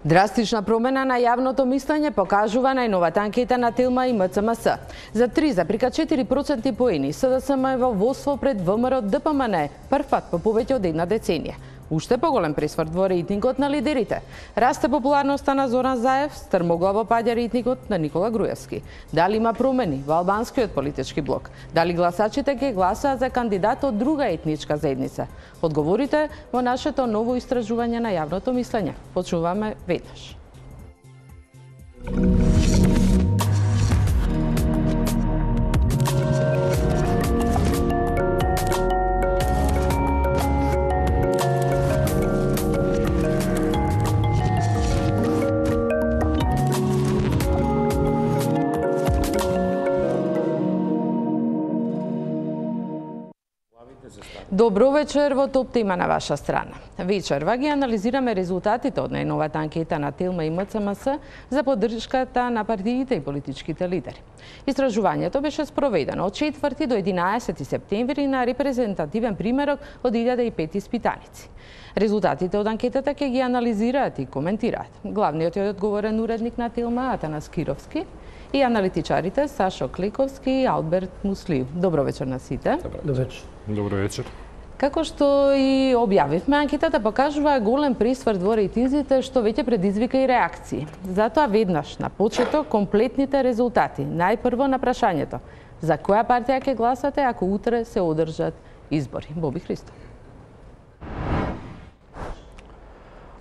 Драстична промена на јавното мислење покажува најновата анкета на Телма и МЦМС. За 3,4% поени СДСМ е во водство пред ВМРО ДПМН, прв пат по повеќе од една деценија. Уште поголем пресврт во рейтингот на лидерите. Расте популарноста на Зоран Заев, стрмоглаво паѓа рейтингот на Никола Груевски. Дали има промени во албанскиот политички блок? Дали гласачите ќе гласаат за кандидат од друга етничка заедница? Одговорите во нашето ново истражување на јавното мислење. Почнуваме веднаш. Добро вечер во Топ тема на ваша страна. Вечерва ги анализираме резултатите од најновата анкета на Телма и МЦМС за поддршката на партиите и политичките лидери. Истражувањето беше спроведено од 4 до 11 септември на репрезентативен примерок од 1005 испитаници. Резултатите од анкетата ќе ги анализираат и коментираат главниот и одговорен уредник на Телма Атанас Кировски и аналитичарите Сашо Кликовски и Алберт Муслиев. Добро вечер на сите. Добро вечер. Добро вечер. Како што и објавивме, анкетата покажува голем пресврт во рейтинзите што веќе предизвика и реакции. Затоа веднаш на почеток комплетните резултати. Најпрво на прашањето: за која партија ќе гласате ако утре се одржат избори? Боби Христов.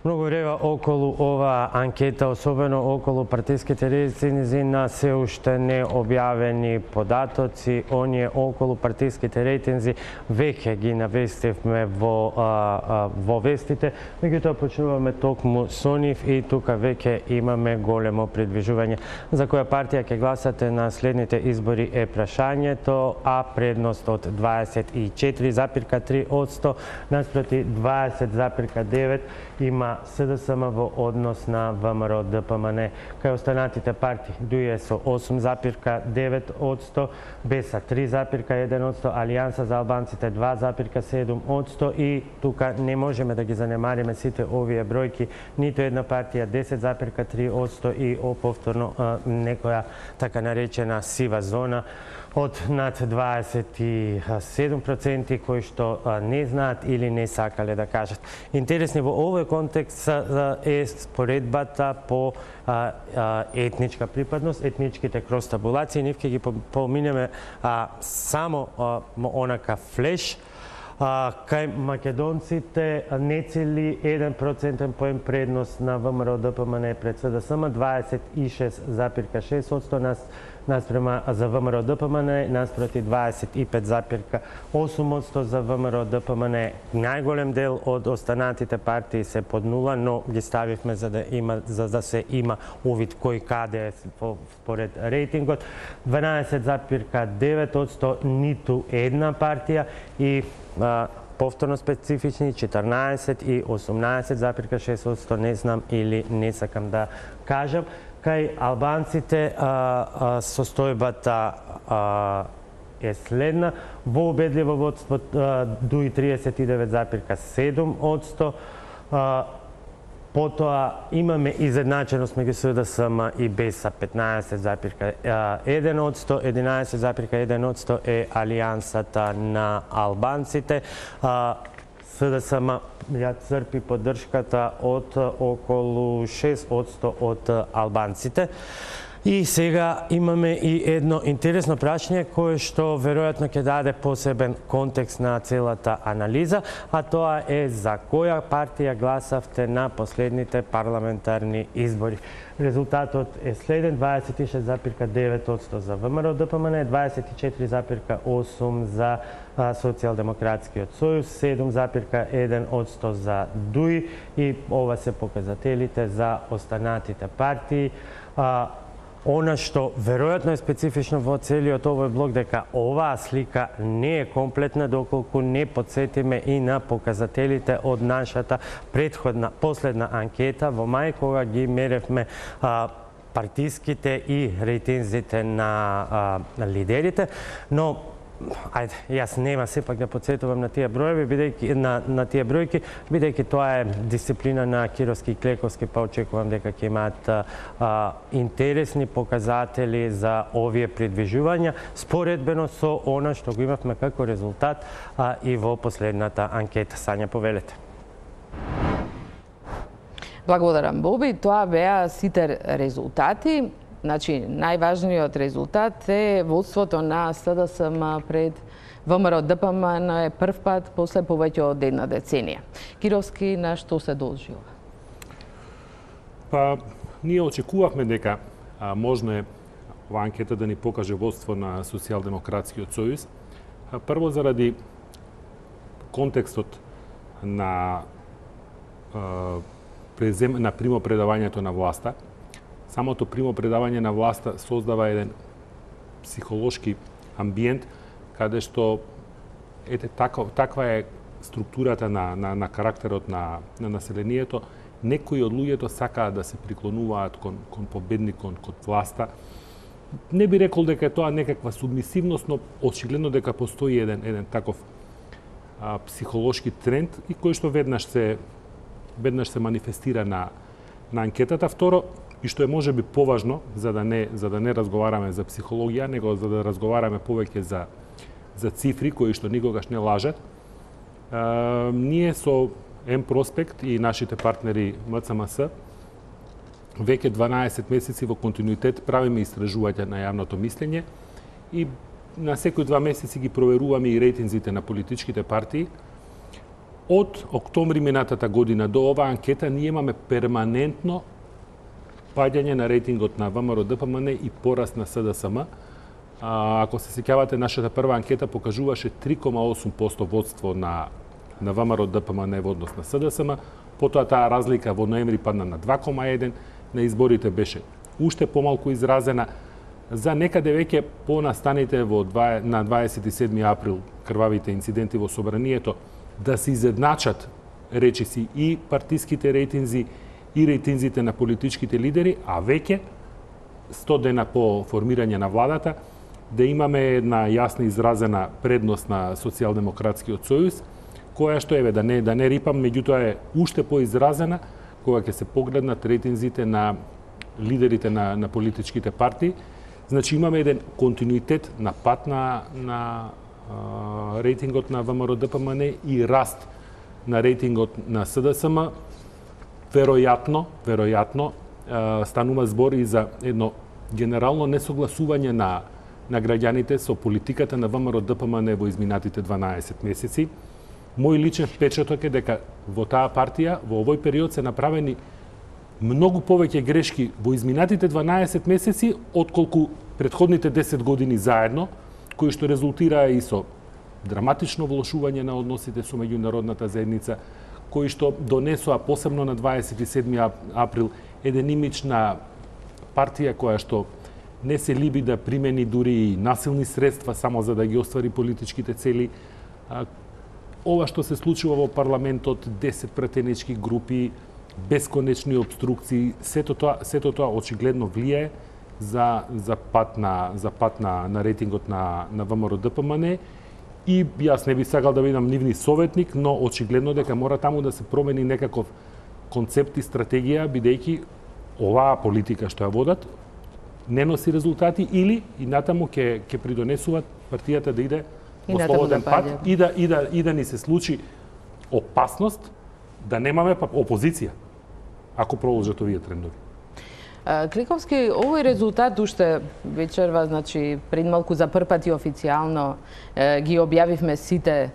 Многу рева околу ова анкета, особено околу партиските рейтинзи на се уште не објавени податоци. Оние околу партиските рейтинзи веќе ги навестивме во вестите, меѓутоа почнуваме токму со нив и тука веќе имаме големо придвижување. За која партија ќе гласате на следните избори е прашањето, а предност од 24,3% наспроти 20,9% има СДСМ во однос на ВМРО ДПМН. Кај останатите партии ДУИ со 8,9%, БЕСА 3,1%, Алијанса за албанците 2,7% и тука не можеме да ги занемариме сите овие бројки. Ниту една партија 10,3% и повторно некоја така наречена сива зона од над 27% кои што не знаат или не сакале да кажат. Интересни во овој контекст е споредбата по етничка припадност, етничките крос-табулации. Нив ќе ги поминеме само онака флеш. Кај македонците не цели 1% поен предност на ВМРО ДПМН пред СДСМ, 26,6% наспрема за ВМРО ДПМН, наспроти 25,8% за ВМРО ДПМН. Најголем дел од останатите партии се под нула, но ги ставивме за да се има увид кој каде е според рейтингот. 12,9% ниту една партија и повторно специфични 14 и 18,6%, не знам или не сакам да кажам. Кај албанците состојбата е следна. Во убедливо водство ДУИ 39,7%. Потоа имаме изедначеност меѓу СДСМ и БЕСА 15,1%, 11,1% е Алијансата на албанците. СДСМ ја црпи поддршката од околу 6% од албанците. И сега имаме и едно интересно прашање кое што веројатно ќе даде посебен контекст на целата анализа, а тоа е за која партија гласавте на последните парламентарни избори. Резултатот е следен: 26,9% за ВМРО ДПМН, 24,8% за Социјалдемократскиот сојуз, 7,1% за ДУИ и ова се показателите за останатите партии. Она што веројатно е специфично во целиот овој блок дека оваа слика не е комплетна доколку не подсетиме и на показателите од нашата последна анкета во мај кога ги меревме партиските и рейтинзите на лидерите, но ајде, јас нема сепак да подсетувам на тие броеви, бидејќи на тие бројки, бидејќи тоа е дисциплина на Кировски и Клековски, па очекувам дека ќе имаат интересни показатели за овие придвижувања, споредбено со она што го имавме како резултат и во последната анкета. Сања, повелете. Благодарам, Боби. Тоа беа сите резултати. Значи, најважниот резултат е водството на СДСМ пред ВМРО ДПМН е прв пат после повеќе од една деценија. Кировски, на што се должи ова? Па, ние очекувавме дека можно е ова анкета да ни покаже водство на Социјалдемократскиот сојуз. Прво заради контекстот на примопредавањето на власта. Самото примопредавање на власта создава еден психолошки амбиент каде што таква е структурата на карактерот на населението. Некои од луѓето сакаат да се приклонуваат кон победникот, кон власта. Не би рекол дека е тоа некаква субмисивност, но очигледно дека постои еден таков психолошки тренд и кој што веднаш се манифестира на анкетата. Второ, и што е можеби поважно, за да не разговараме за психологија, него за да разговараме повеќе за цифри кои што никогаш не лажат. Ние со М-Проспект и нашите партнери МЦМС веќе 12 месеци во континуитет правиме истражувања на јавното мислење и на секои 2 месеци ги проверуваме и рейтинзите на политичките партии. Од октомври минатата година до оваа анкета ние имаме перманентно паѓање на рейтингот на ВМРО ДПМН и пораст на СДСМ. Ако се сеќавате, нашата прва анкета покажуваше 3,8% водство на ВМРО ДПМН во однос на СДСМ, потоа таа разлика во ноември падна на 2,1%, на изборите беше уште помалку изразена. За некаде веќе по настаните на 27 април крвавите инциденти во Собранието да се изедначат речиси и партиските рейтинзи и рейтинзите на политичките лидери, а веќе 100 дена по формирање на владата да имаме една јасна изразена предност на Социјалдемократскиот сојуз, која што да не рипам, меѓутоа е уште поизразена кога ќе се погледнат рейтинзите на лидерите на политичките партии. Значи имаме еден континуитет на пат на рейтингот на ВМРО ДПМН и раст на рейтингот на СДСМ. Веројатно станува збор и за едно генерално несогласување на граѓаните со политиката на ВМРО ДПМН во изминатите 12 месеци. Мој личен впечаток е дека во таа партија во овој период се направени многу повеќе грешки во изминатите 12 месеци отколку претходните 10 години заедно, кои што резултираа и со драматично влошување на односите со меѓународната заедница, кои што донесоа посебно на 27 април еден имидж на партија која што не се либи да примени дури и насилни средства само за да ги оствари политичките цели. Ова што се случува во парламентот, 10 пратенички групи, бесконечни обструкции, сето тоа очигледно влијае за пат на рейтингот на ВМРО ДПМН. И јас не би сакал да бидам нивни советник, но очигледно дека мора таму да се промени некаков концепт и стратегија, бидејќи оваа политика што ја водат не носи резултати или и натаму ќе придонесуваат партијата да иде во слободен пат и да ни се случи опасност да немаме опозиција ако продолжат овие трендови. Клековски, овој резултат уште вечерва, значи пред малку за прв пат и официјално ги објавивме сите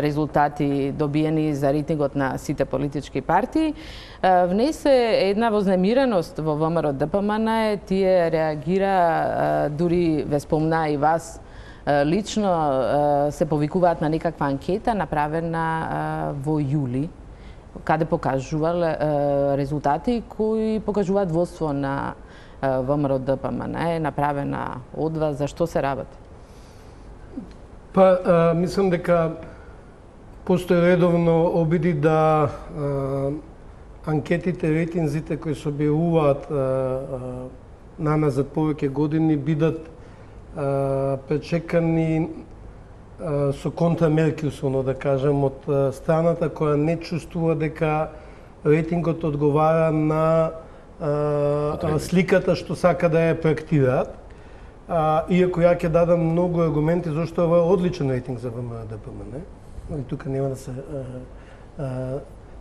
резултати добиени за рейтингот на сите политички партии. Внесе една вознемиреност во ВМРО ДПМН, тие реагира, дури ве спомна и вас лично, се повикуваат на некаква анкета направена во јули, каде покажувал резултати кои покажуваат водство на ВМРО ДПМН е направена од вас, за што се работи? Па, мислам дека постои редовно обиди да анкетите, рейтинзите кои се објавуваат наназад повеќе години бидат пречекани со контрамерки, условно да кажем, од страната која не чувствува дека рейтингот одговара на сликата што сака да ја проектираат. Иако ја ќе дадам многу аргументи зашто ова е одличен рейтинг за ВМРО ДПМН. Тука нема да се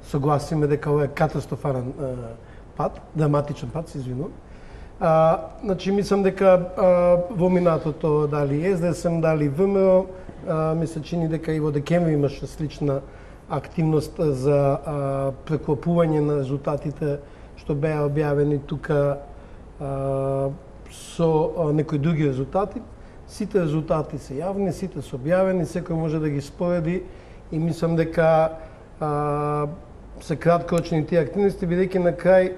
согласиме дека ова е катастрофален пат, драматичен пат, се извинувам. Значи, мислам дека во минатото дали СДСМ, дали ВМРО, ми се чини дека и во декември имаше слична активност за преклопување на резултатите што беа објавени тука со некои други резултати. Сите резултати се јавни, сите се објавени, секој може да ги спореди и мислам дека се краткорочни тие активности, бидејќи на крај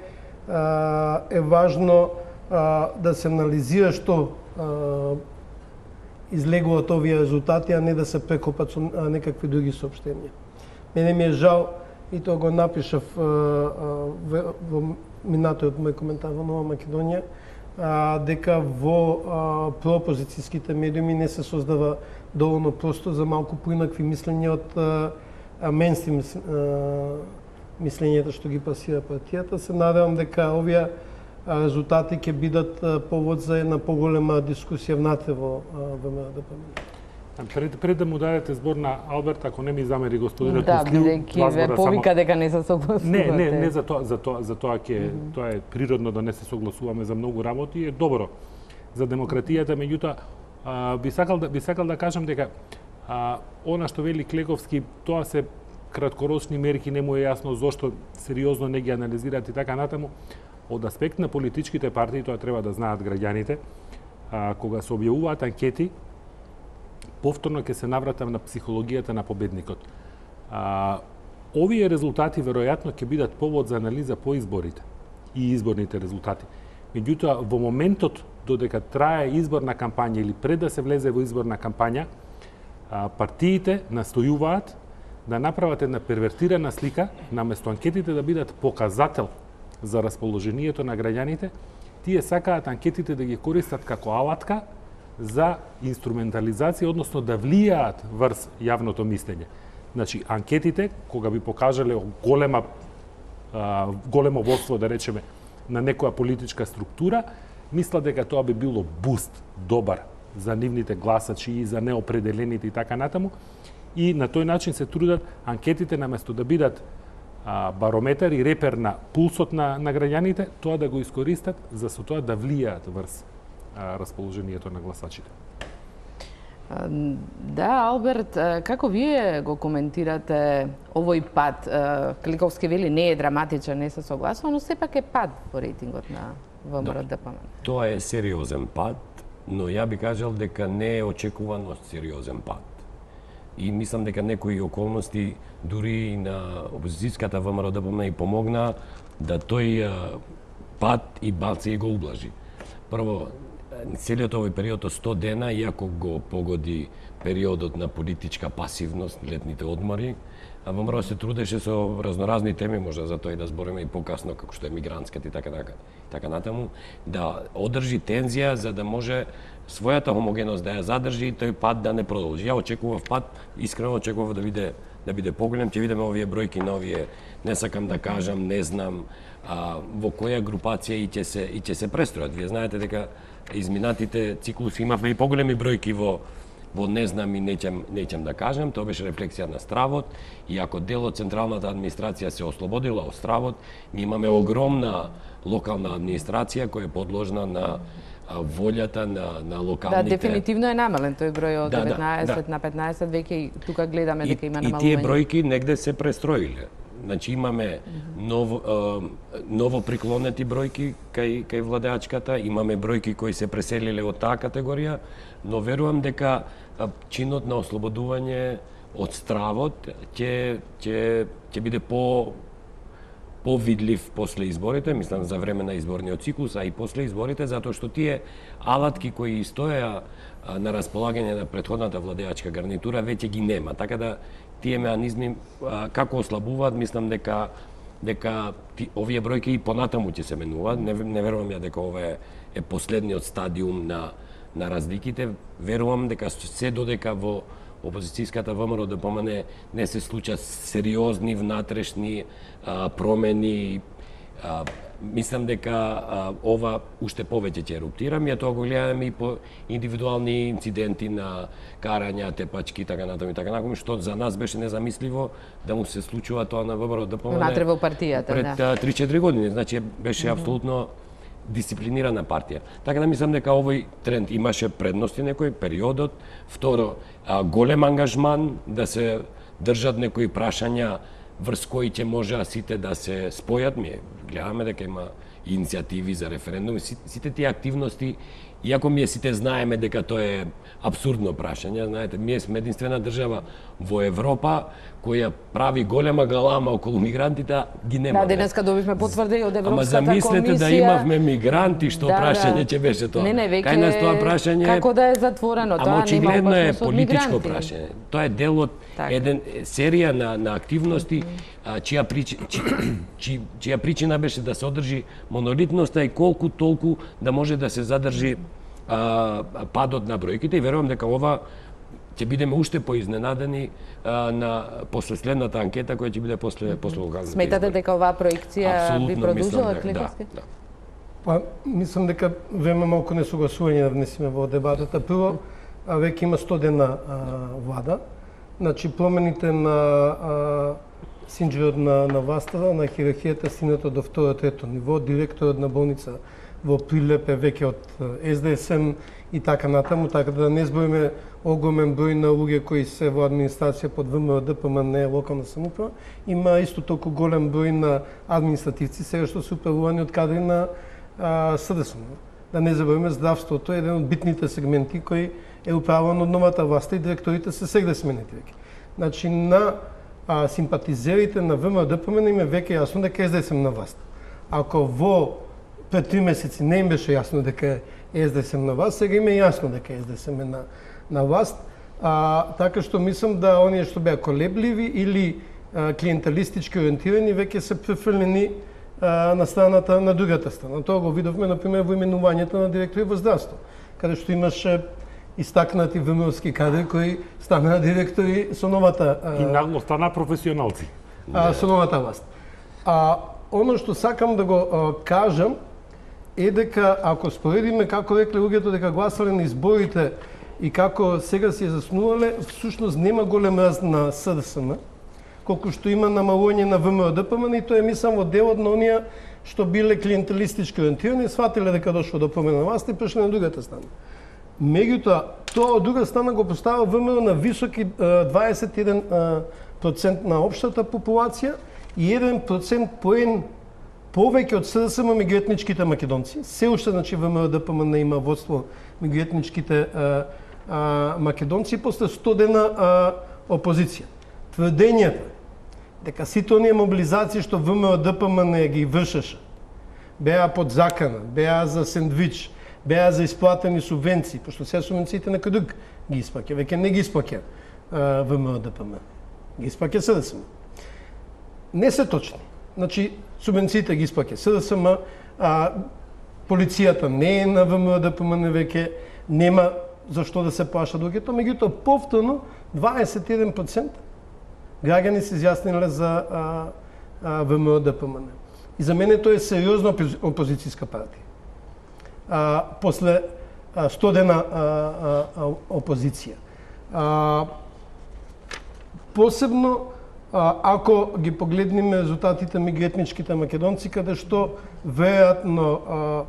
е важно да се анализира што излегуваат овие резултати, а не да се прекопат со некакви други соопштенија. Мене ми е жал, и тоа го напишав во минатиот мој коментар во Нова Македонија, дека во проопозицијските медиуми не се создава доволно простор за малку поинакви мислења од мејнстрим мислењето што ги пасира партијата. Се надевам дека овие резултати ќе бидат повод за една поголема дискусија внатре во ВМРО ДПМН. Пред да му дадете збор на Алберт, ако не ми замери господинот Да, Куслиу, бидејќи ве повика дека не се согласувате. Не за тоа тоа е природно да не се согласуваме за многу работи, е добро за демократијата, меѓутоа би сакал да кажам дека она што вели Клековски, тоа се краткорочни мерки, не му е јасно зошто сериозно не ги анализираат и така натаму. Од аспект на политичките партии, тоа треба да знаат граѓаните, кога се објавуваат анкети, повторно ќе се навратам на психологијата на победникот. Овие резултати веројатно ќе бидат повод за анализа по изборите и изборните резултати. Меѓутоа, во моментот додека трае изборна кампања или пред да се влезе во изборна кампања, партиите настојуваат да направат една первертирана слика, наместо анкетите да бидат показател за расположението на граѓаните, тие сакаат анкетите да ги користат како алатка за инструментализација, односно да влијаат врз јавното мислење. Значи, анкетите, кога би покажале големо водство, да речеме, на некоја политичка структура, мисла дека тоа би било буст добар за нивните гласачи и за неопределените и така натаму. И на тој начин се трудат анкетите, наместо да бидат барометар и репер на пулсот на граѓаните, тоа да го искористат за со тоа да влијаат врз расположението на гласачите. Да, Алберт, како вие го коментирате овој пад? Кликовски вели не е драматичен, не се согласува, но сепак е пад во рейтингот на ВМРО ДПМН. Тоа е сериозен пад, но ја би кажал дека не е очекувано сериозен пад. И мислам дека некои околности дури и на опозицијската ВМРО ДПМН и помогна да тој пад и баци го ублажи. Прво, целиот овој период од 100 дена, иако го погоди периодот на политичка пасивност, летните одмори, а ВМРО се трудеше со разноразни теми, може за тоа и да збориме и покасно, како што е мигрантската и така натаму, да одржи тензија за да може својата хомогеност да ја задржи и тој пад да не продолжи. Ја очекував пад, искрено очекував да биде поголем, ќе видиме овие бројки на овие, не сакам да кажам, не знам, во која групација и ќе се престројат. Вие знаете дека изминатите циклуси имавме и поголеми бројки во не знам и неќам да кажам, тоа беше рефлексија на стравот, и ако дел од централната администрација се ослободила од стравот, ние имаме огромна локална администрација која е подложна на волјата на локалните... Да, дефинитивно е намален тој број од 19 на 15, веќе и тука гледаме дека има намалување. И тие бројки негде се престроиле. Значи имаме ново приклонети бројки кај владеачката, имаме бројки кои се преселиле од таа категорија, но верувам дека чинот на ослободување од стравот ќе биде повидлив после изборите, мислам за време на изборниот циклус, а и после изборите, затоа што тие алатки кои стоја на располагање на претходната владеачка гарнитура веќе ги нема. Така да тие меанизми како ослабуваат, мислам дека овие бројки и понатаму ќе се менуваат. Не верувам ја дека ова е последниот стадиум на разликите. Верувам дека се додека во опозицијската ВМРО ДПМН не се случат сериозни внатрешни промени. Мислам дека ова уште повеќе ќе еруптира. Ние тоа го гледаме и по индивидуални инциденти на карања, тепачки и така натаму и така натаму, што за нас беше незамисливо да му се случува тоа на ВМРО ДПМН. Внатре во партијата, пред 3-4 години. Значи беше апсолутно дисциплинирана партија. Така да мислам дека овој тренд имаше предности некој периодот. Второ, голем ангажман да се држат некои прашања врз кои ќе може сите да се спојат. Ми гледаме дека има иницијативи за референдум. Сите тие активности, иако ние сите знаеме дека тоа е апсурдно прашање, знаете, ние сме единствена држава во Европа која прави голема галама околу мигрантите, ги нема. Да, денеска добивме потврдени од Европската комисија. Ама замислете да имавме мигранти, што прашање ќе беше тоа. Не, веќе кај нас тоа прашање како да е затворено, тоа нема очигледно е политичко мигранти. прашање. Тоа е дел од еден серија на активности чија причина беше да се одржи монолитноста и колку толку да може да се задржи падот на бројките, и верувам дека ова ќе бидеме уште поизненадени после следната анкета која ќе биде после локалните избори. Сметате дека оваа проекција би продолжила Клевски? Да. Па, мислам дека време малку несогласување да внесеме во дебатата. Прво, веќе има 100 дена влада. Значи, промените на синџерот на власта, на хиерархијата стигнато до второ-трето ниво, директорот на болница во Прилеп е веќе од СДСМ и така натаму, така да не збориме огромен број на луѓе кои се во администрација под ВМРО ДПМН локална самоуправа. Има исто толку голем број на административци сега што се управувани од кадри на СДСМ. Да не забориме, здравството е еден од битните сегменти кој е управуван од новата власт и директорите се сега сменети веќе. Значи на симпатизерите на ВМРО ДПМН им е веќе јасно дека СДСМ на власт. Ако пред 3 месеци не им беше јасно дека СДСМ на власт, сега им е јасно дека СДСМ е на власт. Така што мислам да оние што беа колебливи или клиенталистички ориентирани веќе се префрлени на страната на другата страна. Тоа го видовме например во именувањето на директори во здравство, каде што имаше истакнати ВМРО-ски кадри кои станаа директори со новата и нагло стана професионалци. Со новата власт. Оно што сакам да го кажам е дека ако споредиме како рекле луѓето дека гласале на изборите и како сега си заснувале, всушност нема голем раст на СДСМ, колку што има намалување на ВМРО ДПМН, и тоа е мислам во делот на оние што биле клиенталистички ориентирани, сватиле дека дошло до промена на власт и прешле на другата страна. Меѓутоа, тоа од друга страна го поставува ВМРО на високи 21% на општата популација и 1% поен повеќе од СДСМ меѓу етничките македонци. Се уште, значи, ВМРО ДПМН има водство меѓу етничките македонци после 100 дена опозиција. Тврдењето дека сите оние мобилизации што ВМРО ДПМН ги вршеше, беа под закана, беа за сендвич, беа за исплатени субвенции, пошто сега субвенциите некој друг ги испаќа, веќе не ги испаќа ВМРО ДПМН, ги испаќа СДСМ. Не се точни. Значи, субвенциите ги испаќа СДСМ, полицијата не е на ВМРО ДПМН веќе, нема зашто да се плаша луѓето, меѓутоа повторно 21% граѓани се изјасниле за ВМРО ДПМН. И за мене тоа е сериозна опозицијска партија. После 100 дена опозиција. Посебно ако ги погледнеме резултатите меѓу етничките македонци, каде што веројатно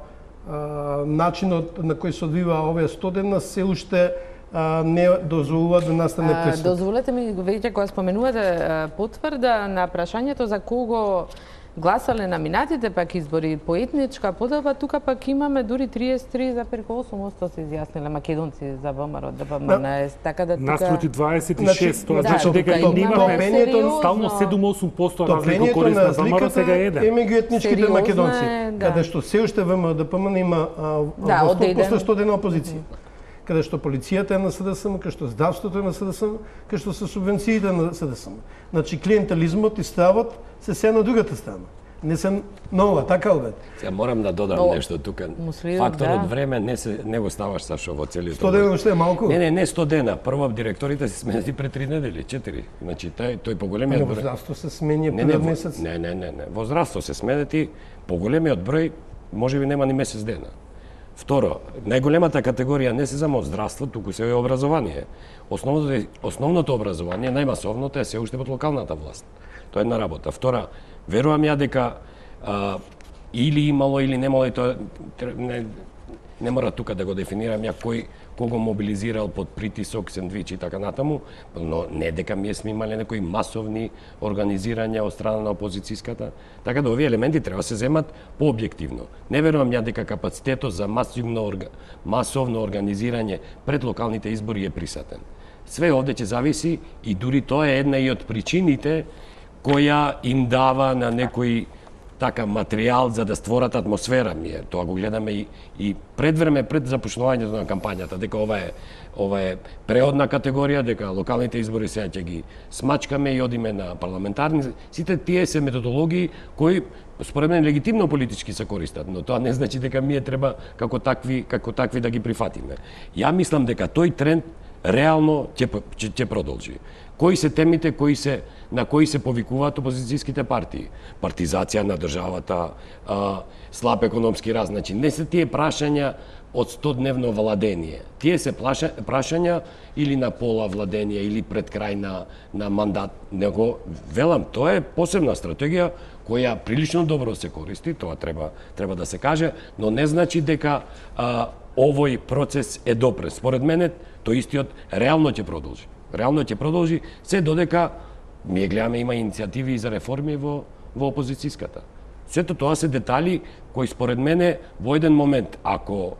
начинот на кој се одвива овие 100 дена се уште не дозволува да настане пресуд. Дозволете ми, веќе кога споменувате потврда на прашањето за кого гласале на минатите пак избори по етничка подоба, тука пак имаме дури 33,8% се изјасниле македонци за ВМРО ДПМН, така да тука наспроти 26, тоа да, значи дека тука имаме сериозно стално 7-8% разлика Топлението корист на на ВМРО, сега е разликата е еден. меѓу етничките Сериозно македонци, е, да. каде што се уште ВМРО ДПМН има Да, во 100% одеден. 100 дена опозиција. Каде што полицијата е на СДСМ, каде што здравството е на СДСМ, каде што се субвенциите на СДСМ. Значи клиентелизмот и стравот се на другата страна. Не се нова, така обет. Сега морам да додам Но, нешто тука. муслимот, Факторот да. време не го ставаш Сашо во целиот. 100 дена уште е малку. Не 100 дена. Прво директорите се сменети пред 3 недели, 4. Значи тој поголемиот Во број. здравство се смени Не, пред месец. Не. Во здравство се сменети поголемиот број, можеби нема ни месец дена. Второ, најголемата категорија не се само здравство, туку се е образование. Основното образование, најмасовното е се уште под локалната власт. Тоа е една работа. Втора, верувам ја дека или имало или немало, и тоа не мора тука да го дефинирам ја кого мобилизирал под притисок, сендвич и така натаму, но не дека ние сме имале некои масовни организирања од страна на опозицијската. Така да овие елементи треба да се земат пообјективно. Не верувам ја дека капацитетот за масовно организирање пред локалните избори е присатен. Све овде ќе зависи и дури тоа е една и од причините која им дава на некои така материјал за да створат атмосфера. Ние тоа го гледаме и пред време, пред започнувањето на кампањата, дека ова е преодна категорија, дека локалните избори сега ќе ги смачкаме и одиме на парламентарни. Сите тие се методологии кои според мен легитимно политички се користат, но тоа не значи дека ние треба како такви да ги прифатиме. Ја мислам дека тој тренд реално ќе продолжи. Кои се темите на кои се повикуваат опозицијските партии? Партизација на државата, слаб економски раст. Значи, не се тие прашања од 100-дневно владение. Тие се прашања или на пола владение, или пред крај на мандат. Него, велам, тоа е посебна стратегија која прилично добро се користи, тоа треба да се каже, но не значи дека овој процес е допред. Според мене, тој истиот реално ќе продолжи. Реално ќе продолжи, се додека ние гледаме има иницијативи за реформи во опозицијската. Сето тоа се детали кои според мене во еден момент, ако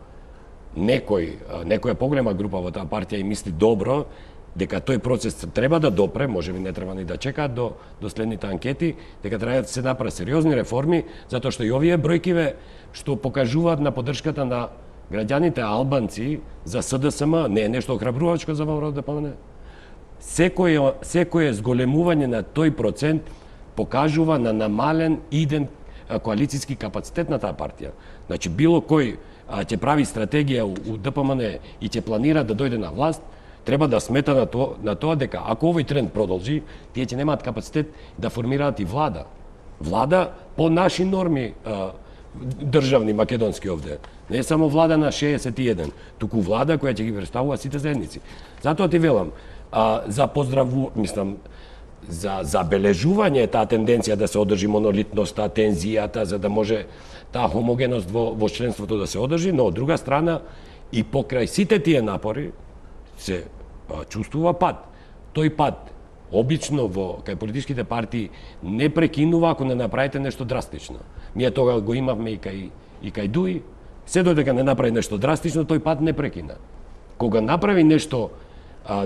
некоја поголема група во таа партија и мисли добро, дека тој процес треба да допре, можеби не треба ни да чекаат до следните анкети, дека треба да се направат сериозни реформи, затоа што и овие бројкиве што покажуваат на поддршката на граѓаните албанци за СДСМ не е нешто охрабрувачко за ВМРО ДПМН. Секој зголемување на тој процент покажува на намален иден коалицијски капацитет на таа партија. Значи, било кој ќе прави стратегија у ДПМН и ќе планира да дојде на власт, треба да смета на тоа дека ако овој тренд продолжи, тие ќе немаат капацитет да формираат и влада. Влада по наши норми државни македонски овде. Не е само влада на 61, туку влада која ќе ги представува сите заедници. Затоа ти велам, за забележување таа тенденција да се одржи монолитноста, тензијата, за да може таа хомогеност во членството да се одржи, но од друга страна и покрај сите тие напори се чувствува пат. Тој пат обично кај политичките партии не прекинува ако не направите нешто драстично. Ние тога го имавме и кај Дуи, се додека не направи нешто драстично, тој пат не прекина. Кога направи нешто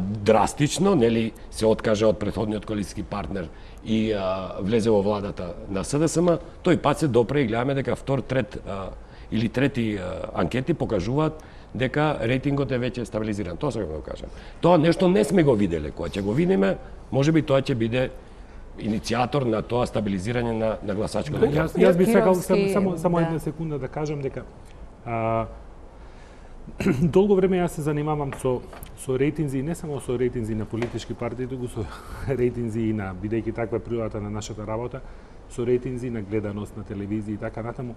драстично, нели се откажа од претходниот коалицијски партнер и влезе во владата на СДСМ, тој пат се допре и гледаме дека втор, трет или трети анкети покажуваат дека рейтингот е веќе стабилизиран. Тоа сакам да го кажам. Тоа нешто не сме го виделе. Кога ќе го видиме, можеби тоа ќе биде иницијатор на тоа стабилизирање на гласачкото. Јас би сакал само една секунда да кажам дека долго време јас се занимавам со рейтинзи, не само со рейтинзи на политички партии, туку со рейтинзи и на, бидејќи таква е природата на нашата работа, со рейтинзи на гледаност на телевизија и така натаму.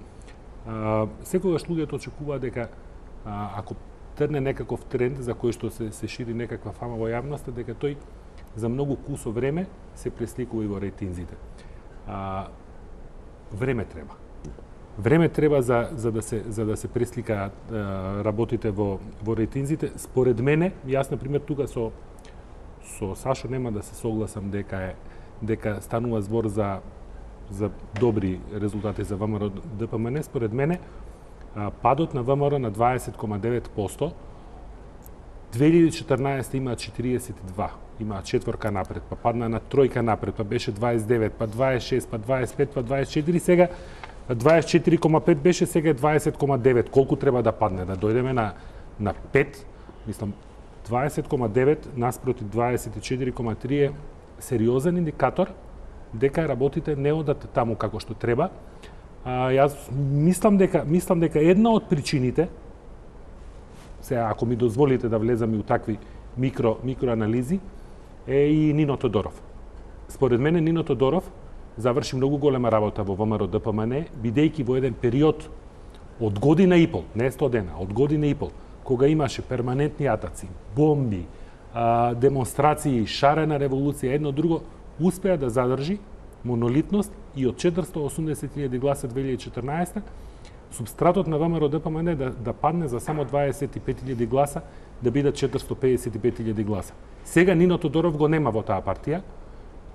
Секогаш луѓето очекуваат дека ако трне некаков тренд за кој што се шири некаква фама во јавноста, дека тој за многу кусо време се пресликува и во рейтинзите. Време треба. Време треба за да се пресликаат работите во рейтинзите. Според мене, јас на пример тука со Сашо нема да се согласам дека станува збор за за добри резултати за ВМРО ДПМН, според мене падот на ВМРО на 20,9%, 2014 имаат 42, имаат четворка напред, па падна на тројка напред, па беше 29, па 26, па 25, па 24, сега 24,5 беше, сега е 20,9. Колку треба да падне? Да дојдеме на 5, мислам, 20,9 наспроти 24,3 е сериозен индикатор дека работите не одат таму како што треба. Јас мислам дека една од причините, сега ако ми дозволите да влезам и у такви микроанализи, е и Нино Тодоров. Според мене Нино Тодоров заврши многу голема работа во ВМРО ДПМН, бидејќи во еден период од година и пол, не 100 дена, од година и пол, кога имаше перманентни атаци, бомби, демонстрации, шарена револуција, едно друго, успеа да задржи монолитност и од 480.000 гласа 2014 субстратот на ВМРО ДПМН да падне за само 25.000 гласа, да бидат 455.000 гласа. Сега Нино Тодоров го нема во таа партија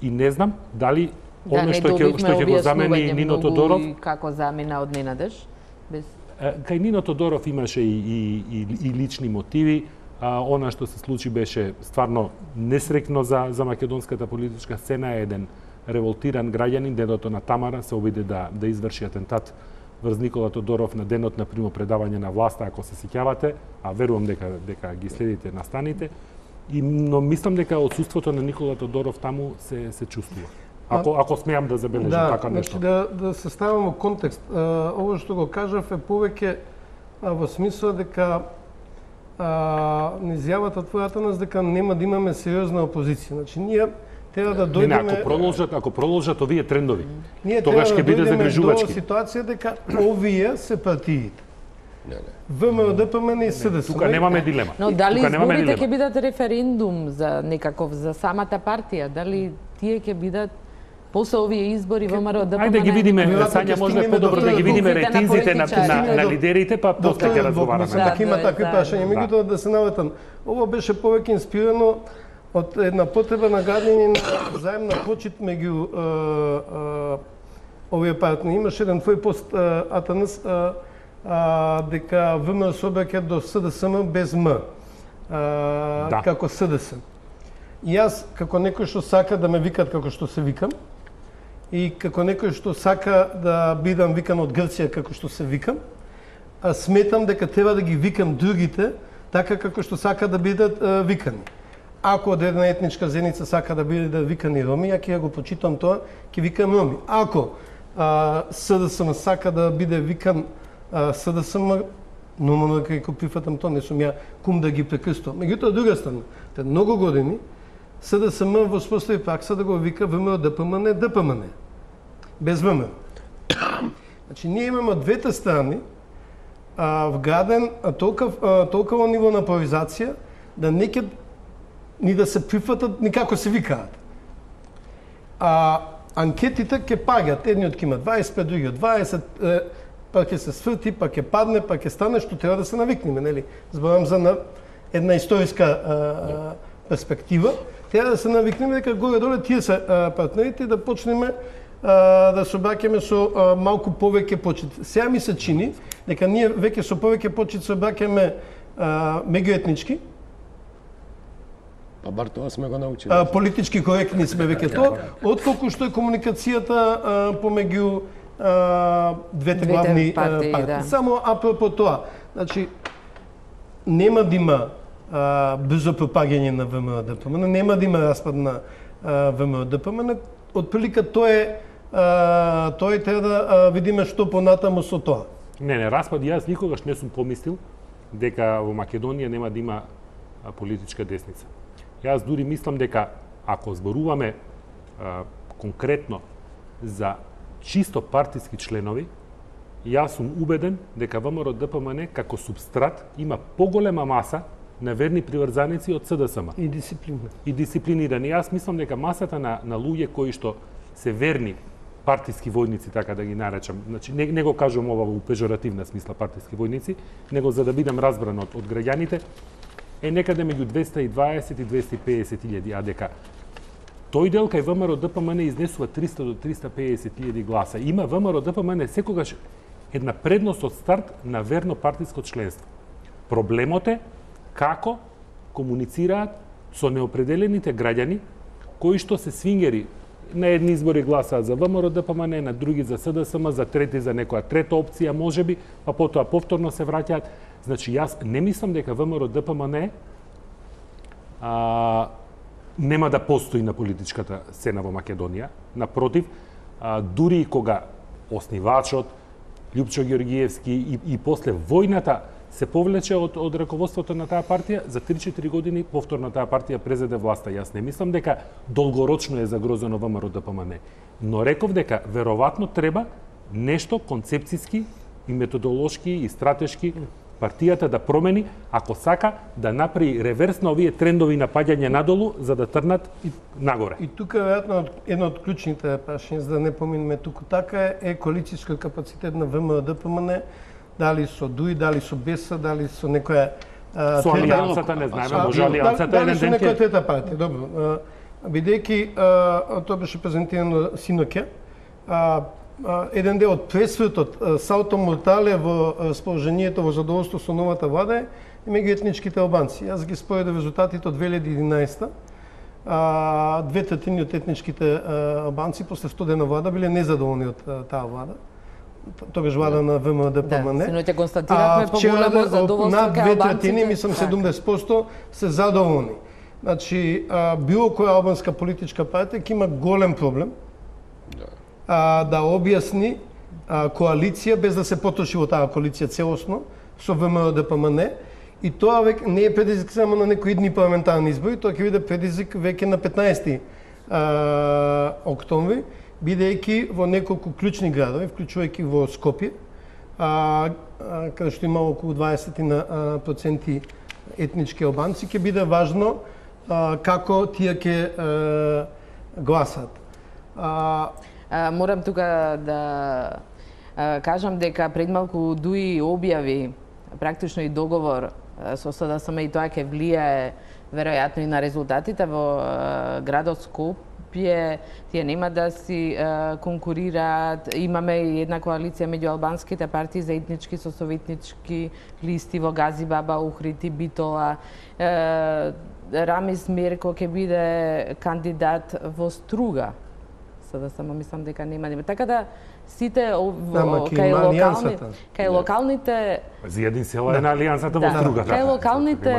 и не знам дали оно што ќе го замени Нино Тодоров, како замина од Ненадеж без кај Нино Тодоров имаше и лични мотиви. Она што се случи беше стварно несрекно за македонската политичка сцена. Еден револтиран граѓанин, дедото на Тамара, се обиде да изврши атентат врз Никола Тодоров на денот на примопредавање на власта, ако се сеќавате, а верувам дека ги следите настаните. Но мислам дека отсуството на Никола Тодоров таму се чувствува. Ако смеам да забележам така нешто. Да се ставам во контекст. Ово што го кажав е повеќе во смисла дека изјавата твојата нас дека нема да имаме сериозна опозиција. Значи ние треба да дојдеме ако продолжат овие трендови, ние тогаш ќе биде загрижувачки. До ситуација дека овие се партиите. ВМРО ДПМН и СДСМ. Тука немаме дилема. Но дали изборите ќе бидат референдум за самата партија? Дали тие ќе бидат после овие избори ВМРО ДПМН? Ајде ги видиме, Сања, може да подобро да ги видиме рейтинзите на лидерите, па после ќе разговараме. Дека има такви прашања, меѓутоа да се наватам. Ово беше повеќе инспирано од една потреба на градење на заемна почит меѓу овие партнери. Имаше еден твој пост, Атанас, дека ВМРО се обраќа до СДСМ без М, како СДС. И јас, како некој што сака да ме викат како што се викам, и како некој што сака да бидам викан од Грција како што се викам, сметам дека треба да ги викам другите така како што сака да бидат викани. Ако од една етничка заедница сака да биде викани роми, ја ќе го почитам тоа, ќе викам роми. Ако СДСМ сака да биде викан СДСМ, нормално дека го прифатам тоа, не сум ја кум да ги прекрстувам. Меѓутоа, друга страна, пред многу години СДСМ воспостави пракса да го вика ВМРО ДПМН ДПМН, без ВМРО. Значи, ние имаме од двете страни вграден толкова ниво на поларизација да неќе ни да се прифатат, никако се викаат. Анкетите ќе паѓат, едниот ќе има 25, другиот 20, па ќе се сврти, па ќе падне, па ќе стане, што треба да се навикнеме, нели? Зборам за една историска перспектива. Треба да се навикнеме дека горе-доле тие се партнерите и да почнеме да се обраќаме со малку повеќе почит. Сега ми се чини дека ние веќе со повеќе почит се обраќаме меѓуетнички. Па бар тоа сме го научили. Политички коректни сме веќе тоа, отколку што е комуникацијата помеѓу двете главни партии. Да. Само апропо тоа, значи нема да има брзо пропагање на ВМРО ДПМН, нема да има распад на ВМРО ДПМН. Отприлика тој треба да видиме што понатаму со тоа. Не, распад, јас никогаш не сум помислил дека во Македонија нема да има политичка десница. Јас дури мислам дека ако зборуваме конкретно за чисто партиски членови, јас сум убеден дека ВМРО ДПМН како субстрат има поголема маса на верни приврзаници од СДСМ. И дисциплинирани. Јас мислам дека масата на луѓе кои што се верни партиски војници, така да ги наречам, значи не го кажувам ова во пежоративна смисла партиски војници, него за да бидам разбран од граѓаните, е некаде меѓу 220 и 250 илјади, а дека тој дел кај ВМРО ДПМН изнесува 300 до 350.000 гласа. Има ВМРО ДПМН секогаш една предност од старт на верно партиско членство. Проблемот е како комуницираат со неопределените граѓани кои што се свингери. На едни избори гласаат за ВМРО ДПМН, на други за СДСМ, за трети за некоја трета опција можеби, па потоа повторно се враќаат. Значи јас не мислам дека ВМРО ДПМН нема да постои на политичката сцена во Македонија. Напротив, дури и кога основачот Лјупчо Ѓоргиевски и после војната се повлече од раководството на таа партија, за 3-4 години повторно таа партија презеде власта. Јас не мислам дека долгорочно е загрозено ВМРО ДПМН, но реков дека веројатно треба нешто концепцијски и методолошки и стратешки партијата да промени, ако сака да направи реверс на овие трендови на паѓање надолу, за да трнат и нагоре. И тука веројатно една од клучните прашања, за да не поминеме туку така, е коалицијскиот капацитет на ВМРО ДПМН, дали со ДУИ, дали со БЕСА, дали со некоја со алијансата не знаеме, може алијансата еден ден ќе некоја трета партија, добро. Бидејќи тоа беше презентирано синоќа, еден дел од пресветот салто мортале во расположението, во задоволство со новата влада е меѓу етничките албанци. Јас ги споредов резултатите од 2011. 2/3 од етничките албанци после 100 дена влада биле незадоволни од таа влада. Тогаш влада на ВМРО ДПМН. Синоќа констатиравме поголемо задоволство кај албанците. Мислам 70% се задоволни. Значи, било која албанска политичка партија ќе има голем проблем да објасни коалиција без да се потроши во таа коалиција целосно со ВМРО ДПМН, и тоа веќе не е предизвик само на некои идни парламентарни избори, тоа ќе биде предизвик веќе на 15 октомври, бидејќи во неколку клучни градови, вклучувајќи во Скопје, каде што има околу 20% етнички албанци, ќе биде важно како тие ќе гласат. Морам тука да кажам дека пред малку ДУИ објави практично и договор со СДСМ, и тоа ќе влијае веројатно и на резултатите во градот Скопје. Тие нема да си конкурираат. Имаме и една коалиција меѓу албанските партии за етнички со советнички листи во Газибаба, Ухрити, Битола. Рамис Мерко ќе биде кандидат во Струга. Да само мислам дека нема. Така да сите кај локалните Зијадин села е на алијансата во Струга. Кај локалните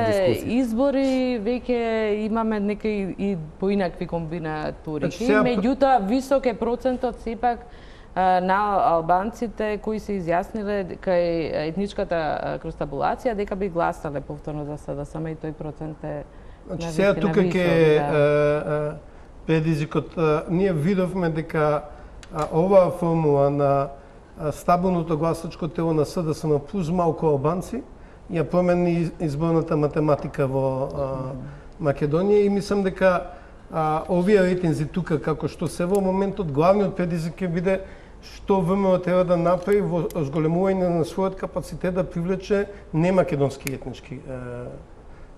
избори веќе имаме некои и поинакви комбинатури. Меѓутоа висок е процентот сепак на албанците кои се изјасниле кај етничката крстабулација дека би гласале повторно за СДСМ, и тој процент е Значи сега тука ќе предизвикот. Ние видовме дека оваа формула на стабилното гласачко тело на СДСМ плюс малку албанци ја промени изборната математика во Македонија, и мислам дека овие рейтинзи тука, како што се во моментот, главниот предизвик ќе биде што ВМРО треба да направи во зголемување на својот капацитет да привлече немакедонски етнички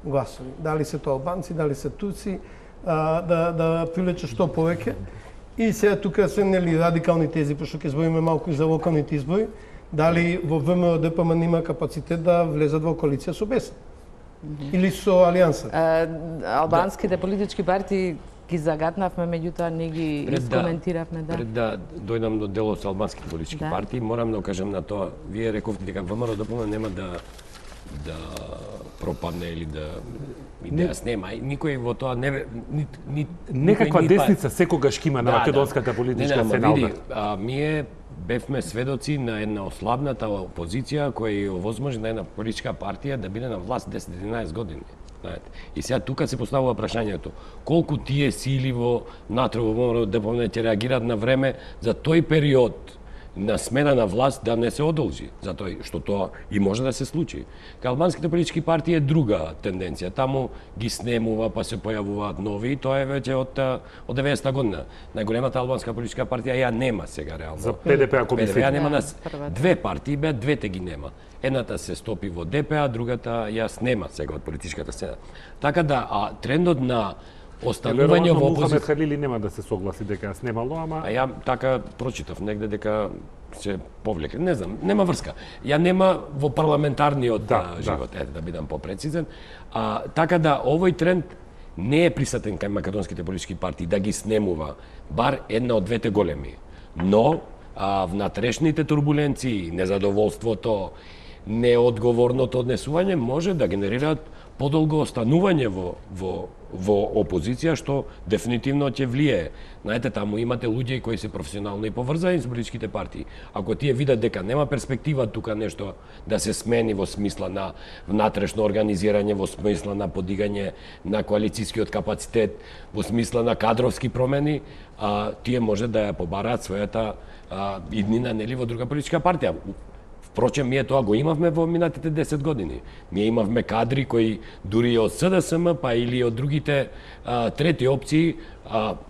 гласови. Дали се тоа албанци, дали се турци, да привлече што повеќе. И сега тука се нели радикални тези, пошто ќе збориме малку и за локалните избори, дали во ВМРО ДПМН има капацитет да влезат во коалиција со БЕС или со алијанса. Албанските политички партии ги загатнавме, меѓутоа не ги искоментиравме. Пред да дојдам до делот со албанските политички партии, морам да кажам на тоа. Вие рековте дека ВМРО ДПМН нема да пропадне или да идејас нема. Никој во тоа не некаква десница секогаш има на македонската политичка сцена. Ние бевме сведоци на една ослабната опозиција која е овозможна една политичка партија да биде на власт 10-11 години. И сега тука се поставува прашањето колку тие сили во натре во ВМРО ДПМН ќе реагираат на време за тој период на смена на власт да не се одолжи, затоа што тоа и може да се случи. Кај албанските политички партии е друга тенденција. Таму ги снемува, па се појавуваат нови, и тоа е веќе од 90-та година. Најголемата албанска политичка партија ја нема сега реално. За ПДП, ако мислите. ПДП нема две партии, двете ги нема. Едната се стопи во ДП, другата ја снема сега од политичката сцена. Така да, трендот на останување во Мухамед опозиција. Халили нема да се согласи дека снимало, ама А ја така прочитав негде дека се повлека. Не знам, нема врска. Ја нема во парламентарниот живот, да бидам попрецизен. Така да овој тренд не е присутен кај македонските политички партии да ги снемува бар една од двете големи. Но внатрешните турбуленции, незадоволството, неодговорното однесување може да генерираат подолго останување во опозиција, што дефинитивно ќе влие. Знаете, таму имате луѓе кои се професионално и поврзани со политичките партии. Ако тие видат дека нема перспектива тука нешто да се смени во смисла на внатрешно организирање, во смисла на подигање на коалицијскиот капацитет, во смисла на кадровски промени, тие може да ја побараат својата иднина нели во друга политичка партија. Впрочем, ние тоа го имавме во минатите 10 години. Ние имавме кадри кои дури од СДСМ, па или од другите трети опции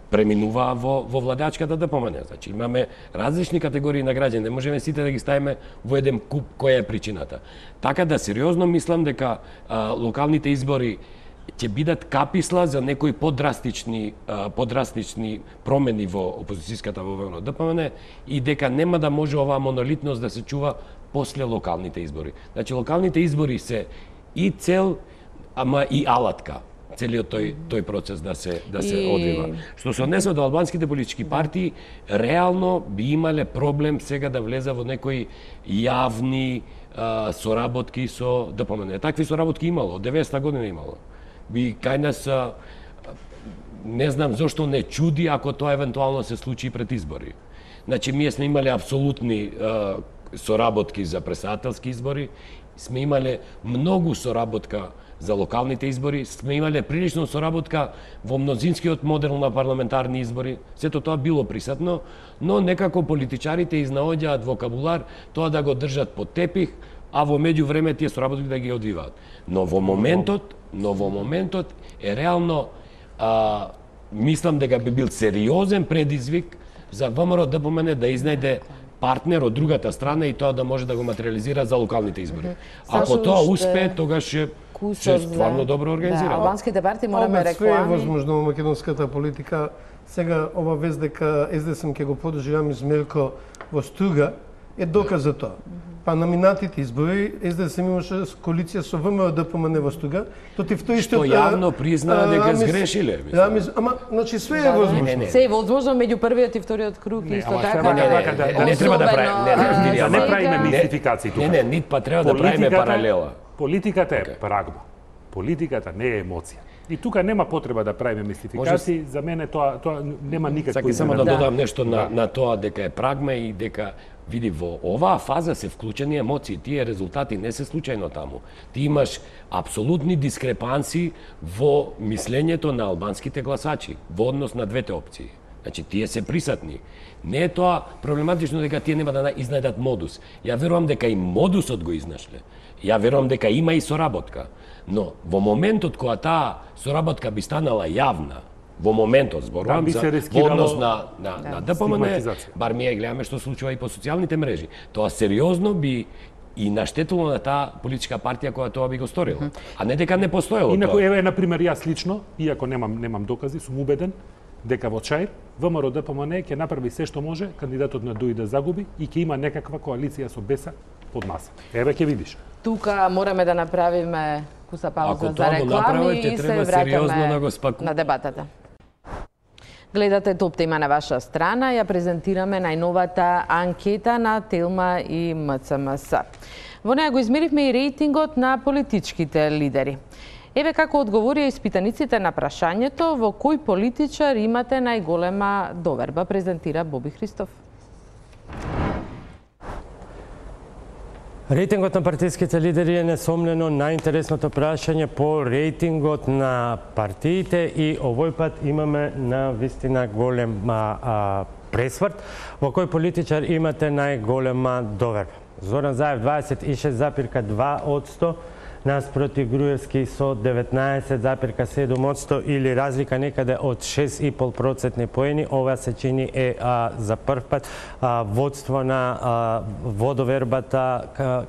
преминуваа во владеачката ДПМН. Значи, имаме различни категории на граѓани, не можеме сите да ги ставиме во еден куп која е причината. Така да сериозно мислам дека локалните избори ќе бидат каписла за некои подрастични промени во опозицијската во ДПМН и дека нема да може оваа монолитност да се чува после локалните избори. Значи, локалните избори се и цел, ама и алатка, целиот тој процес да се одвива. Што се однесува до албанските политички партии, реално би имале проблем сега да влеза во некои јавни соработки со ДПМН. Такви соработки имало, од 90-та година имало. Би кај нас не знам зошто не чуди ако тоа евентуално се случи пред избори. Значи, ние сме имале апсолутни соработки за претседателски избори, сме имале многу соработка за локалните избори, сме имале прилично соработка во мнозинскиот модел на парламентарни избори. Сето тоа било присутно, но некако политичарите изнаоѓаат вокабулар тоа да го држат под тепих, а во меѓувреме тие соработки да ги одвиваат. Но во моментот е реално мислам дека би бил сериозен предизвик за ВМРО ДПМН да изнајде партнер од другата страна и тоа да може да го материализира за локалните избори. Ако тоа успее, тогаш ќе стварно добро организира. Албанските партии мораме реклами. Све е возможно во македонската политика. Сега ова вест дека СДСМ ќе го подржи Јамис Мелко во Струга е доказ за тоа. Па на минатите избори СДСМ имаше коалиција со ВМРО ДПМН во Струга, против тој што јавно признаа дека сгрешиле. Ама значи све е возможно. Се е возможно меѓу првиот и вториот круг исто така. Не треба да правиме. Не правиме мистификации тука. Не, нит па треба да правиме паралела. Политиката е прагма. Политиката не е емоција. И тука нема потреба да правиме мистификации, за мене тоа нема никакво. Сакам само да додам нешто на тоа дека е прагма и дека види во оваа фаза се вклучени емоции, тие резултати не се случајно таму. Ти имаш апсолутни дискрепанси во мислењето на албанските гласачи во однос на двете опции. Значи тие се присутни. Не е тоа проблематично дека тие нема да изнајдат модус. Ја верувам дека и модусот го изнашле. Ја верувам дека има и соработка. Но во моментот кога таа соработка би станала јавна, во моментот зборувам за во однос на ДПМН, бар ние гледаме што случува и по социјалните мрежи. Тоа сериозно би и наштетило на таа политичка партија која тоа би го сторила. А не дека не постоело тоа. Инаку еве на пример јас лично, иако немам докази, сум убеден дека во Чаир ВМРО ДПМН ќе направи се што може кандидатот на ДУИ да загуби и ќе има некаква коалиција со Беса под маса. Еве ќе видиш. Тука мораме да направиме куса пауза за реклами и се враќаме на дебатата. Гледате Топ тема на ваша страна, ја презентираме најновата анкета на Телма и МЦМС. Во неја го измеривме и рейтингот на политичките лидери. Еве како одговорија испитаниците на прашањето во кој политичар имате најголема доверба, презентира Боби Христов. Рейтингот на партиските лидери е несомнено најинтересното прашање по рейтингот на партиите и овој пат имаме на вистина голема пресврт во кој политичар имате најголема доверба. Зоран Заев 26,2%, наспроти Груевски со 19,7% или разлика некаде од 6,5% поени. Ова се чини за прв пат водство на водовербата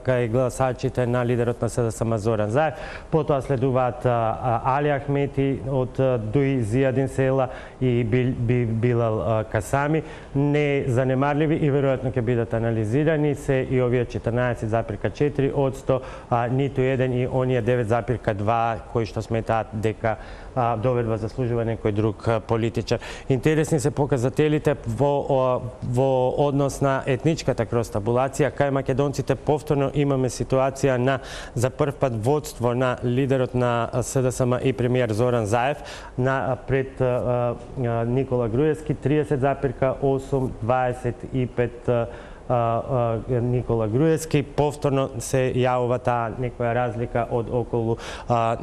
кај гласачите на лидерот на СДСМ Зоран Заев. Потоа следуваат Али Ахмети од ДУИ, Зијадин Села и Билал Касами. Не занемарливи и веројатно ќе бидат анализирани се и овие 14,4%, ниту еден и оние 9,2 кои што сметаат дека доверба заслужува некој друг политичар. Интересни се показателите во однос на етничката кростабулација. Кај македонците повторно имаме ситуација на за прв пат водство на лидерот на СДСМ и премиер Зоран Заев пред Никола Груевски 30,8, 25 Никола Груевски. Повторно се јавува таа некоја разлика од околу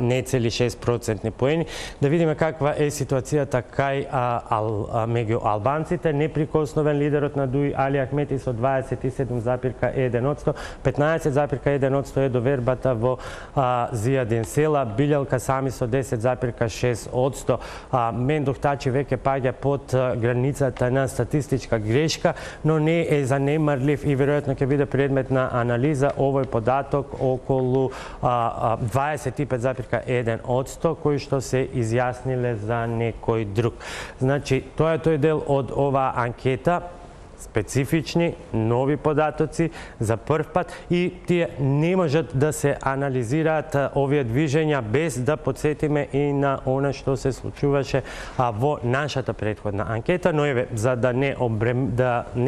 нецели 6% поени. Да видиме каква е ситуацијата кај меѓу албанците. Неприкосновен лидерот на ДУИ Али Ахмети со 27,1%, 15,1% е довербата во Зијадин Села, Билал Касами со 10,6%. Мендух Тачи веќе паѓа под границата на статистичка грешка, но не е занемар и веројатно ќе биде предмет на анализа овој податок околу 25,1% кои што се изјасниле за некој друг. Значи, тоа е тој дел од оваа анкета, специфични, нови податоци за прв пат и тие не можат да се анализираат овие движења без да подсетиме и на она што се случуваше во нашата претходна анкета, но еве за да не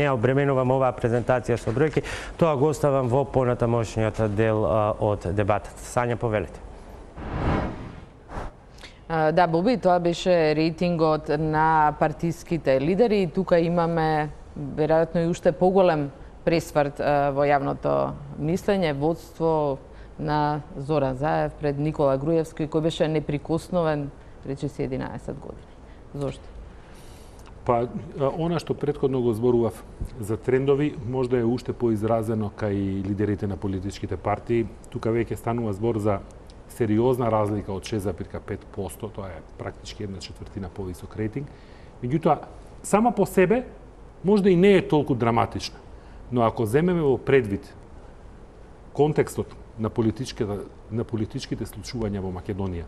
обременувам оваа презентација со бројки, тоа го оставам во понатамошниот дел од дебатата. Сања, повелете. Да, Боби, тоа беше рейтингот на партиските лидери. Тука имаме веројатно и уште поголем пресврт во јавното мислење, водство на Зоран Заев пред Никола Груевски, кој беше неприкосновен речиси 11 години. Зошто? Па, она што претходно го зборував за трендови, можда е уште поизразено кај лидерите на политичките партии. Тука веќе станува збор за сериозна разлика од 6,5%, тоа е практички 1/4 повисок рейтинг. Меѓутоа, сама по себе можда и не е толку драматична, но ако земеме во предвид контекстот на политичките случувања во Македонија,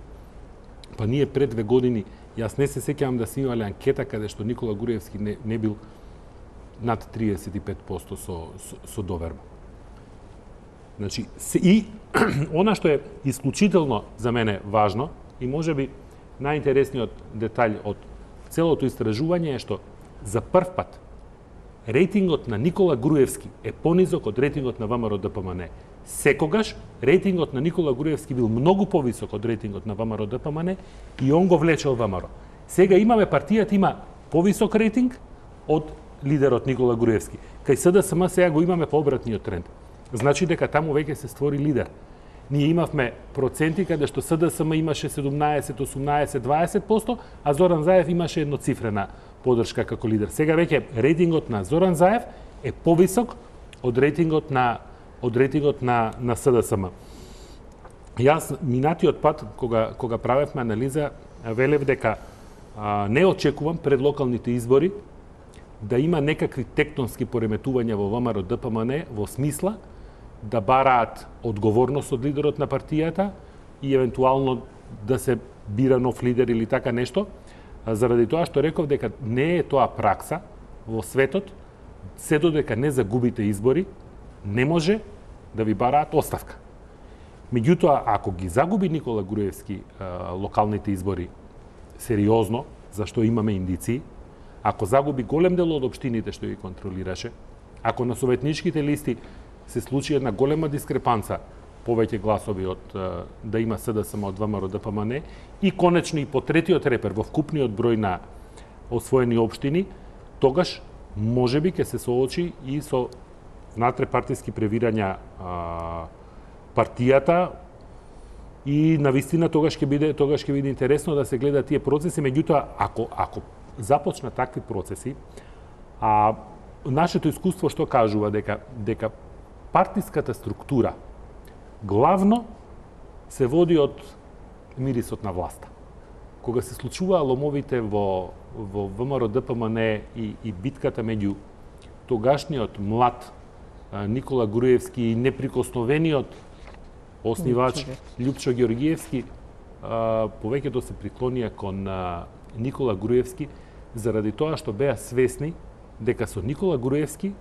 па ние пред 2 години, јас не се сеќавам да се имале анкета каде што Никола Груевски не бил над 35% со доверба. Значи, и она што е исклучително за мене важно и можеби најинтересниот детаљ од целото истражување е што за прв пат рейтингот на Никола Груевски е понизок од рейтингот на ВМРО ДПМН. Секогаш рейтингот на Никола Груевски бил многу повисок од рейтингот на ВМРО ДПМН и он го влечел ВМРО. Сега имаме партијата има повисок рейтинг од лидерот Никола Груевски. Кај СДСМ сега го имаме пообратниот тренд. Значи дека таму веќе се створи лидер. Ние имавме проценти каде што СДСМ имаше 17, 18, 20%, а Зоран Заев имаше едноцифрена подршка како лидер. Сега веќе рейтингот на Зоран Заев е повисок од рейтингот на СДСМ. Јас минатиот пат кога правевме анализа велев дека не очекувам пред локалните избори да има некакви тектонски пореметувања во ВМРО ДПМН во смисла да бараат одговорност од лидерот на партијата и евентуално да се бира нов лидер или така нешто, заради тоа што реков дека не е тоа пракса во светот, се додека не загубите избори, не може да ви бараат оставка. Меѓутоа, ако ги загуби Никола Груевски локалните избори сериозно, зашто имаме индиции, ако загуби голем дел од општините што ги контролираше, ако на советничките листи се случи една голема дискрепанца, повеќе гласови од да има СДСМ од ВМРО ДПМН и конечно и по третиот репер во вкупниот број на освоени општини, тогаш можеби ќе се соочи и со внатре-партиски превирања партијата и навистина тогаш ќе биде интересно да се гледа тие процеси. Меѓутоа, ако започнат такви процеси, нашето искуство што кажува дека партиската структура главно се води од мирисот на власта. Кога се случуваа ломовите во ВМРО ДПМН и битката меѓу тогашниот млад Никола Груевски и неприкосновениот оснивач Љупчо Георгиевски, повеќето се приклонија кон Никола Груевски заради тоа што беа свесни дека со Никола Груевски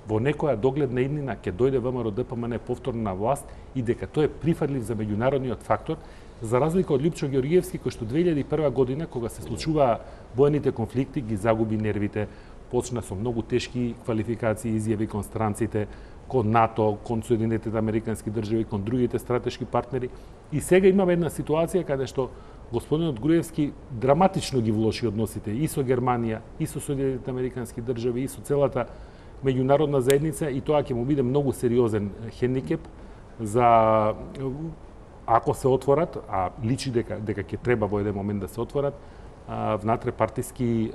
во некоја догледна иднина ќе дојде ВМРО ДПМН повторно на власт и дека тој е прифатлив за меѓународниот фактор, за разлика од Љупчо Георгиевски кој што 2001 година кога се случуваа воените конфликти ги загуби нервите, почна со многу тешки квалификации и изјави кон странците, кон НАТО, кон Соединетите Американски држави, кон другите стратешки партнери. И сега имаме една ситуација каде што господинот Груевски драматично ги влоши односите и со Германија, и со Соединетите Американски држави, и со целата меѓународна заедница, и тоа ќе му биде многу сериозен хендикеп за ако се отворат, а личи дека ќе треба во еден момент да се отворат внатре партиски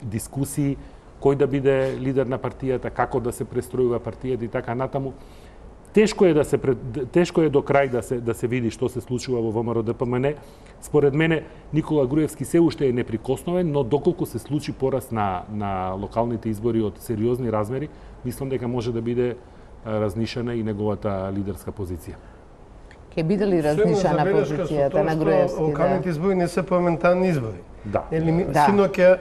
дискусии, кој да биде лидер на партијата, како да се престројува партијата и така натаму. Тешко е до крај да се види што се случува во ВМРО ДПМН. Според мене Никола Груевски се уште е неприкосновен, но доколку се случи пораст на локалните избори од сериозни размери, мислам дека може да биде разнишена и неговата лидерска позиција. Ќе биде ли разнишена позицијата на Груевски? Локалните избори не се парламентарни избори. Да. Синоќа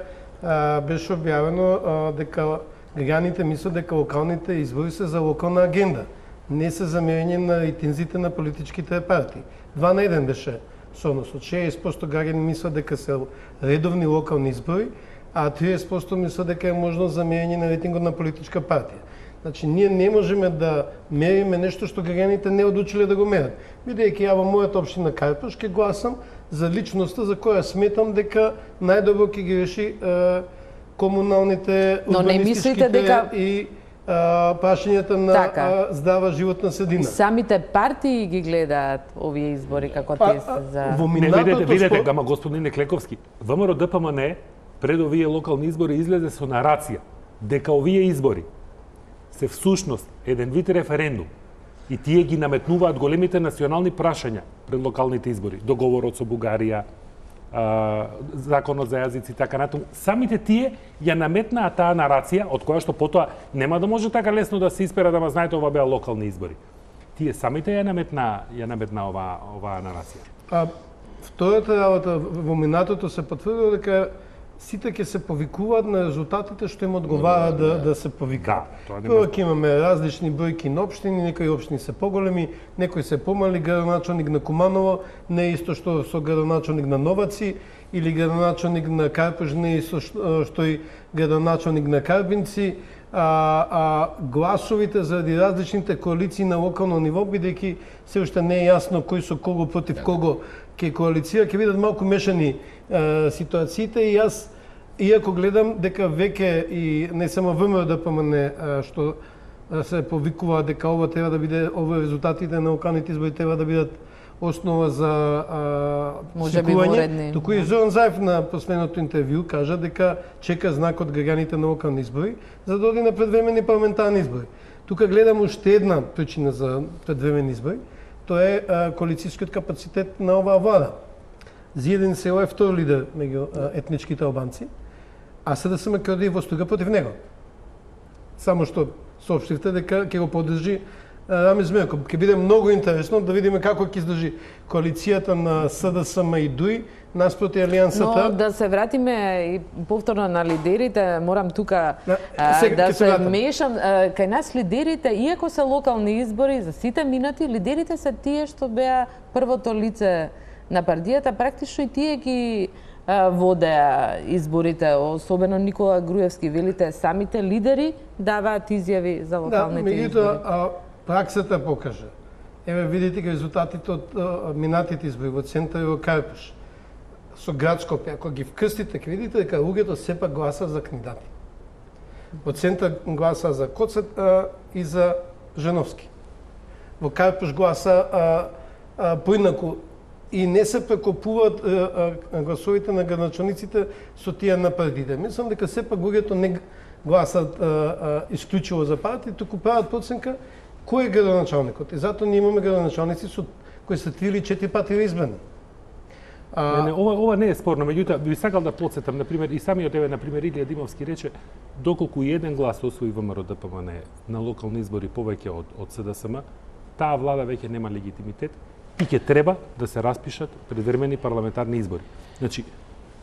беше објавено дека граѓаните мислат дека локалните избори се за локална агенда, не се за мерење на рейтинзите на политичките партии. 2 на 1 беше соодносот. 60% граѓани мислат дека се редовни локални избори, а 30% мислат дека е можност за мерење на рейтингот на политичка партија. Значи, ние не можеме да мериме нешто што граѓаните не одлучиле да го мерат. Бидејќи ја во мојата општина Карпаш ќе гласам за личноста за која сметам дека најдобро ќе ги реши комуналните, урбанистичките и прашањата на здрава животна средина. Самите партии ги гледаат овие избори како те се за... Видете, ама господине Клековски, ВМРО ДПМН пред овие локални избори излезе со нарација дека овие избори се всушност еден вид референдум и тие ги наметнуваат големите национални прашања пред локалните избори, договорот со Бугарија, законот за јазици и така натаму. Самите тие ја наметнаа таа нарација, од која што потоа нема да може така лесно да се испера, да знаете, ова беа локални избори. Тие самите ја наметнаа оваа нарација. Втората работа, во минатото се потврдило дека сите ќе се повикуваат на резултатите што им одговара да се повикаат. Прво ќе имаме различни бројки на општини, некои општини се поголеми, некои се помали. Градоначалник на Куманово не е исто што со градоначалник на Новаци, или градоначалник на Карпаш не е исто што и градоначалник на Карбинци, гласовите заради различните коалиции на локално ниво, бидејќи се уште не е јасно кој со кого против кого ќе коалицира, ќе бидат малку мешани ситуациите, и јас, иако гледам дека веќе и не само ВМРО ДПМН што се повикува дека ова треба да биде, ова резултатите на локалните избори треба да бидат основа за свикување, туку и Зоран Заев на последното интервју кажа дека чека знак од граѓаните на локални избори за да оди на предвремени парламентарни избори. Тука гледам уште една причина за предвремени избори, тоа е коалицијскиот капацитет на оваа влада. Зиедин Село е втор лидер меѓу етничките албанци, а СДСМ ќе оди во струга против него. Само што соопштивте дека ќе го поддржи Рамиз Мерков. Ќе биде многу интересно да видиме како ќе издржи коалицијата на СДСМ и ДУИ наспроти алијансата. Но да се вратиме и повторно на лидерите, морам тука да се вмешам. Кај нас лидерите, иако се локални избори, за сите минати, лидерите се тие што беа првото лице на партијата, практично и тие ги водеа изборите, особено Никола Груевски. Велите, самите лидери даваат изјави за локалните избори. Праксата покажа. Еве видите резултатите од минатите избори во Центар и во Карпаш. Со Градскопје, ако ги вкрстите, ќе видите дека луѓето сепак гласат за кандидати. Во Центар гласа за Коцет и за Женовски. Во Карпаш гласа поинаку и не се прекопуваат гласовите на градоначалниците со тие на партиите. Мислам дека сепак луѓето не гласат исклучиво за партии, туку прават проценка кој е градоначалникот. И затоа ние имаме градоначалници со кои се 3 или 4 пати избрани. Не, ова не е спорно, меѓутоа би сакал да потсетам, например, и самиот еве например Илија Димовски рече, доколку еден глас освои ВМРО ДПМН на локални избори повеќе од СДСМ, таа влада веќе нема легитимитет и ќе треба да се распишат предвремени парламентарни избори. Значи,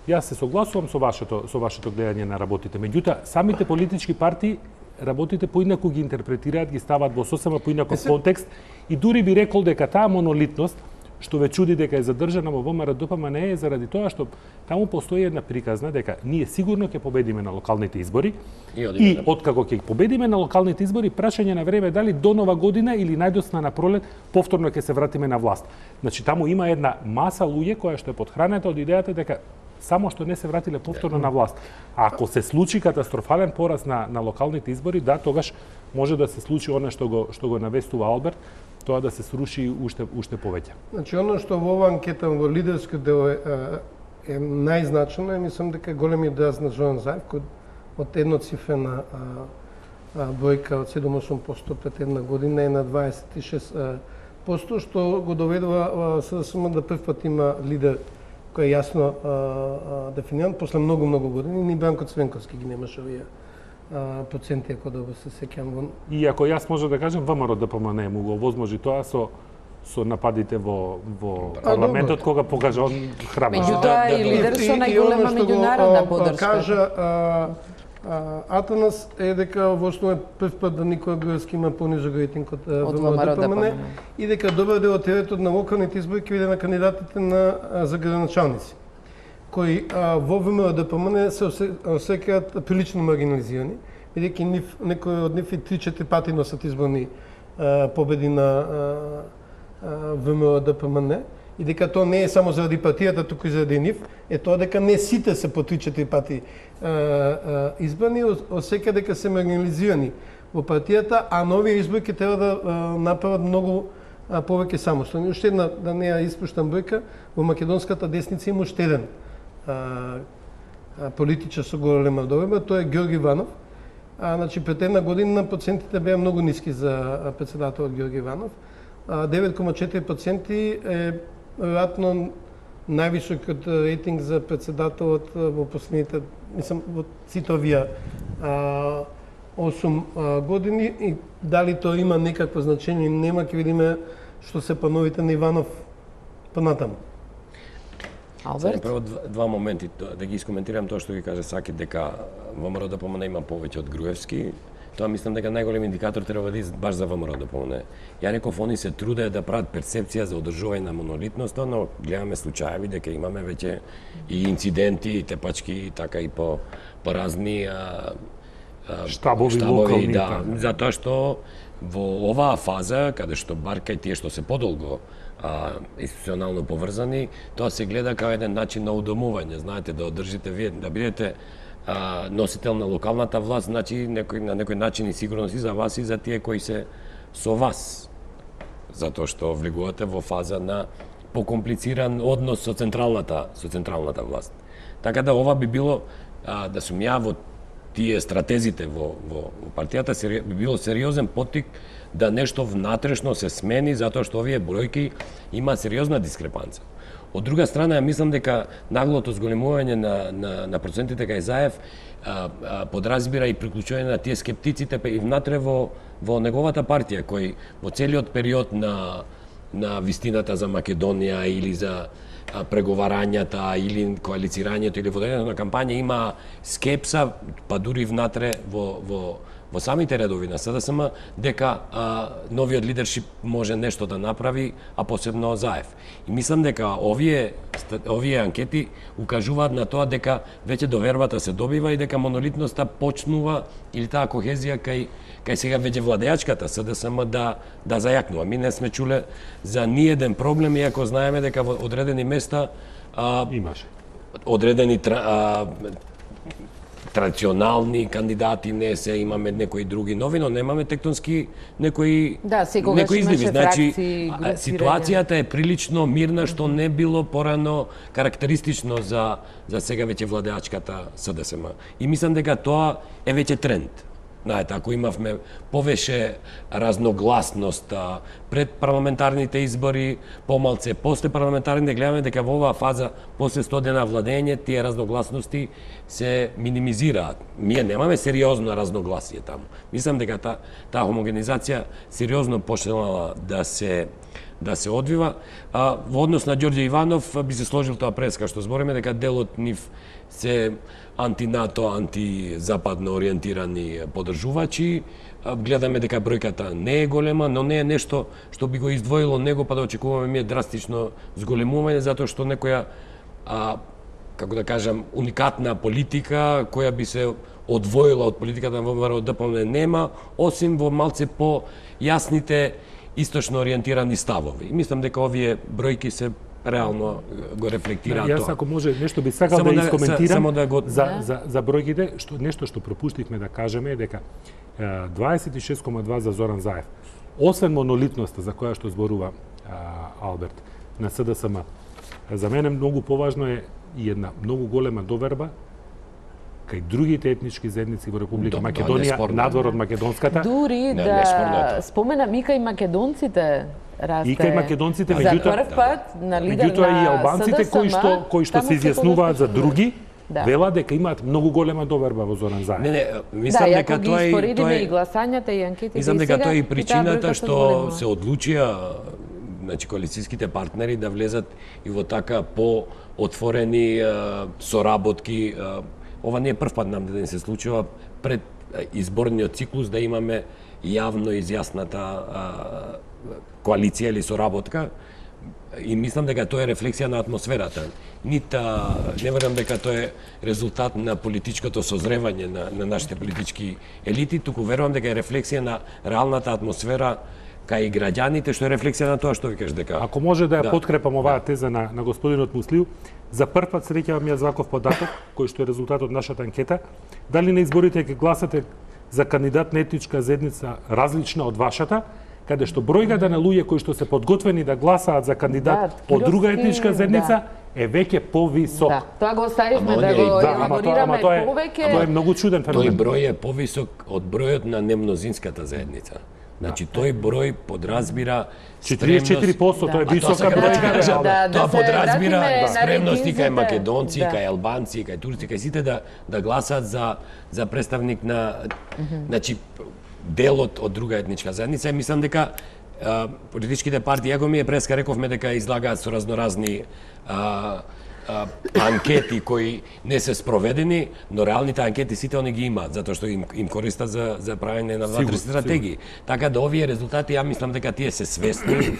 јас се согласувам со вашето гледање на работите, меѓутоа самите политички партии работите поинаку ги интерпретираат, ги ставаат во сосема поинаков контекст и дури би рекол дека таа монолитност што ве чуди дека е задржана во ВМРО ДПМН е заради тоа што таму постои една приказна дека ние сигурно ќе победиме на локалните избори и откако ќе победиме на локалните избори, прашање на време дали до нова година или најдосна на пролет повторно ќе се вратиме на власт. Значи таму има една маса луѓе која што е подхранета од идејата дека само што не се вратиле повторно на власт. А ако се случи катастрофален пораз на локалните избори, да, тогаш може да се случи она што го навестува Алберт, тоа да се сруши уште повеќе. Значи, оно што во оваа анкета во лидерскиот дел е најзначено, мислам дека големиот дел на Зоран Заев, кој од едноцифрена бројка од 7-8% пред една година е на 26%, што го доведува СДСМ да прв пат има лидер кој е јасно дефиниран после многу години. Ни Бранко Цвенковски ги немаше овие проценти, ако добро се сеќам. И ако јас може да кажем, ВМРО ДПМН му го овозможи тоа со нападите во парламентот, кога покажа он храброст. Меѓутоа и лидер со најголема меѓународна поддршка. Кажа Атанас е дека во основа прв пат да Никола Груевски има понижок рейтинг од ВМРО ДПМН и дека добар дел од теретот на локалните избори ќе биде на кандидатите за градоначалници, кои во ВМРО ДПМН се осеќаат прилично маргинализирани, бидејќи некои од нив и 3-4 пати носат изборни победи на ВМРО ДПМН, и дека тоа не е само заради партијата, туку и заради нив, е тоа дека не сите се по 3-4 пати избрани, осеќа дека се маргинализирани во партијата, а нови избори ќе треба да направат многу повеќе самостојни. Уште една, да не ја испуштам бројка, во македонската десница има уште еден политичар со голема добива, тоа е Ѓорги Иванов. Значи, пред една година процентите беа многу ниски за председателот Ѓорги Иванов. 9,4% е веројатно највисокиот рейтинг за председателот во последните, мислам, во сите овие 8 години, и дали тоа има некакво значење, нема, ќе видиме што се плановите на Иванов понатаму. Алберт? Прво два моменти, да ги искоментирам тоа што ги каже Саки, дека ВМРО ДПМН има повеќе од Груевски. Тоа мислам дека најголем индикатор треба да биде баш за ВМРО ДПМН. Ја реков, они се трудеа да прават перцепција за одржување на монолитноста, но гледаме случаеви дека имаме веќе и инциденти, и тепачки, така и по разни штабови локални, да, затоа што во оваа фаза, каде што бар кај тие што се подолго институционално поврзани, тоа се гледа како еден начин на удомување, знаете, да одржите вие, да бидете носител на локалната власт, значи на некој начин и сигурност и за вас и за тие кои се со вас. Затоа што влегувате во фаза на покомплициран однос со централната власт. Така да ова би било, да сум ја во тие стратезите во партијата, би било сериозен поттик да нешто внатрешно се смени, затоа што овие бројки има сериозна дискрепанца. Од друга страна, ја мислам дека наглото зголемување на процентите кај Заев подразбира и приклучување на тие скептиците и внатре во неговата партија, кој во целиот период на вистината за Македонија или за преговарањата или коалицирањето или водењето на кампања има скепса, па дури внатре во самите редови на СДСМ, дека новиот лидершип може нешто да направи, а посебно Заев. И мислам дека овие анкети укажуваат на тоа дека веќе довербата се добива и дека монолитноста почнува, или таа кохезија кај сега веќе владеачката СДСМ да зајакнува. Ми не сме чуле за ниеден проблем, иако знаеме дека во одредени места имаше одредени традиционални кандидати не се, имаме некои други нови, но немаме тектонски некои изливи. Значи, ситуацијата е прилично мирна, што не било порано карактеристично за сега веќе владеачката СДСМ. И мислам дека тоа е веќе тренд. Знаете, ако имавме повеше разногласност пред парламентарните избори, помалце после парламентарните, гледаме дека во оваа фаза, после 100 дена владење, тие разногласности се минимизираат. Ние немаме сериозно разногласие таму. Мислам дека таа хомогенизација сериозно почнала да се одвива. Во однос на Ѓорѓе Иванов би се сложил тоа преска што збориме дека делот нив се антинато, антизападно ориентирани подржувачи. Гледаме дека бројката не е голема, но не е нешто што би го издвоило него па да очекуваме ние драстично зголемување, затоа што некоја, како да кажам, уникатна политика која би се одвоила од политиката на ВМРО ДПМН нема, осим во малце по јасните источно ориентирани ставови. И мислам дека овие бројки се реално го рефлектираат тоа. Јас ако може нешто би сакал да искоментирам за бројките, нешто што пропуштивме да кажеме е дека 26,2 за Зоран Заев. Освен монолитноста за која што зборува Алберт на СДСМ, за мене многу поважно е и една многу голема доверба кај другите етнички заедници во Република Македонија, надвор од македонската. Дури да споменам и кај македонците расте. И кај македонците, за прв пат на лидер на и албанците кои што се изјаснуваат за други, вела дека имаат многу голема доверба во Зоран Заев. Не, мислам дека тоа и гласањата и анкетите. Мислам дека тоа е и причината што се одлучија значи коалицијските партнери да влезат и во така по-отворени соработки. Ова не е прв пат нам да не се случува пред изборниот циклус да имаме јавно изјасната коалиција или соработка и мислам дека тоа е рефлексија на атмосферата. Не верувам дека тоа е резултат на политичкото созревање на нашите политички елити, туку верувам дека е рефлексија на реалната атмосфера кај граѓаните, што е рефлексија на тоа што ви кажеш дека... Ако може да ја подкрепам оваа теза на господинот Муслиу, за прв пат среќавам јас ваков податок, кој што е резултат од нашата анкета, дали на изборите ќе гласате за кандидат на етничка заедница различна од вашата, каде што бројката на луѓе кои што се подготвени да гласаат за кандидат од друга етничка заедница е веќе повисок. Да, тоа го оставивме да го елаборираме повеќе. Тоа е многу чуден феномен. Тој број е повисок од бројот на немнозинската заедница. Значи тој број подразбира 44%, тоа е висока бројка. Тоа подразбира спремност и кај македонци, кај албанци, кај турци, кај сите да гласаат за представник на значи делот од друга етничка заедница. И мислам дека политичките партии, ако ми е преска рековме дека излагаат со разноразни анкети кои не се спроведени, но реалните анкети сите они ги имаат, затоа што им користат за правење на внатрешни стратегии. Така да овие резултати, ја мислам дека тие се свесни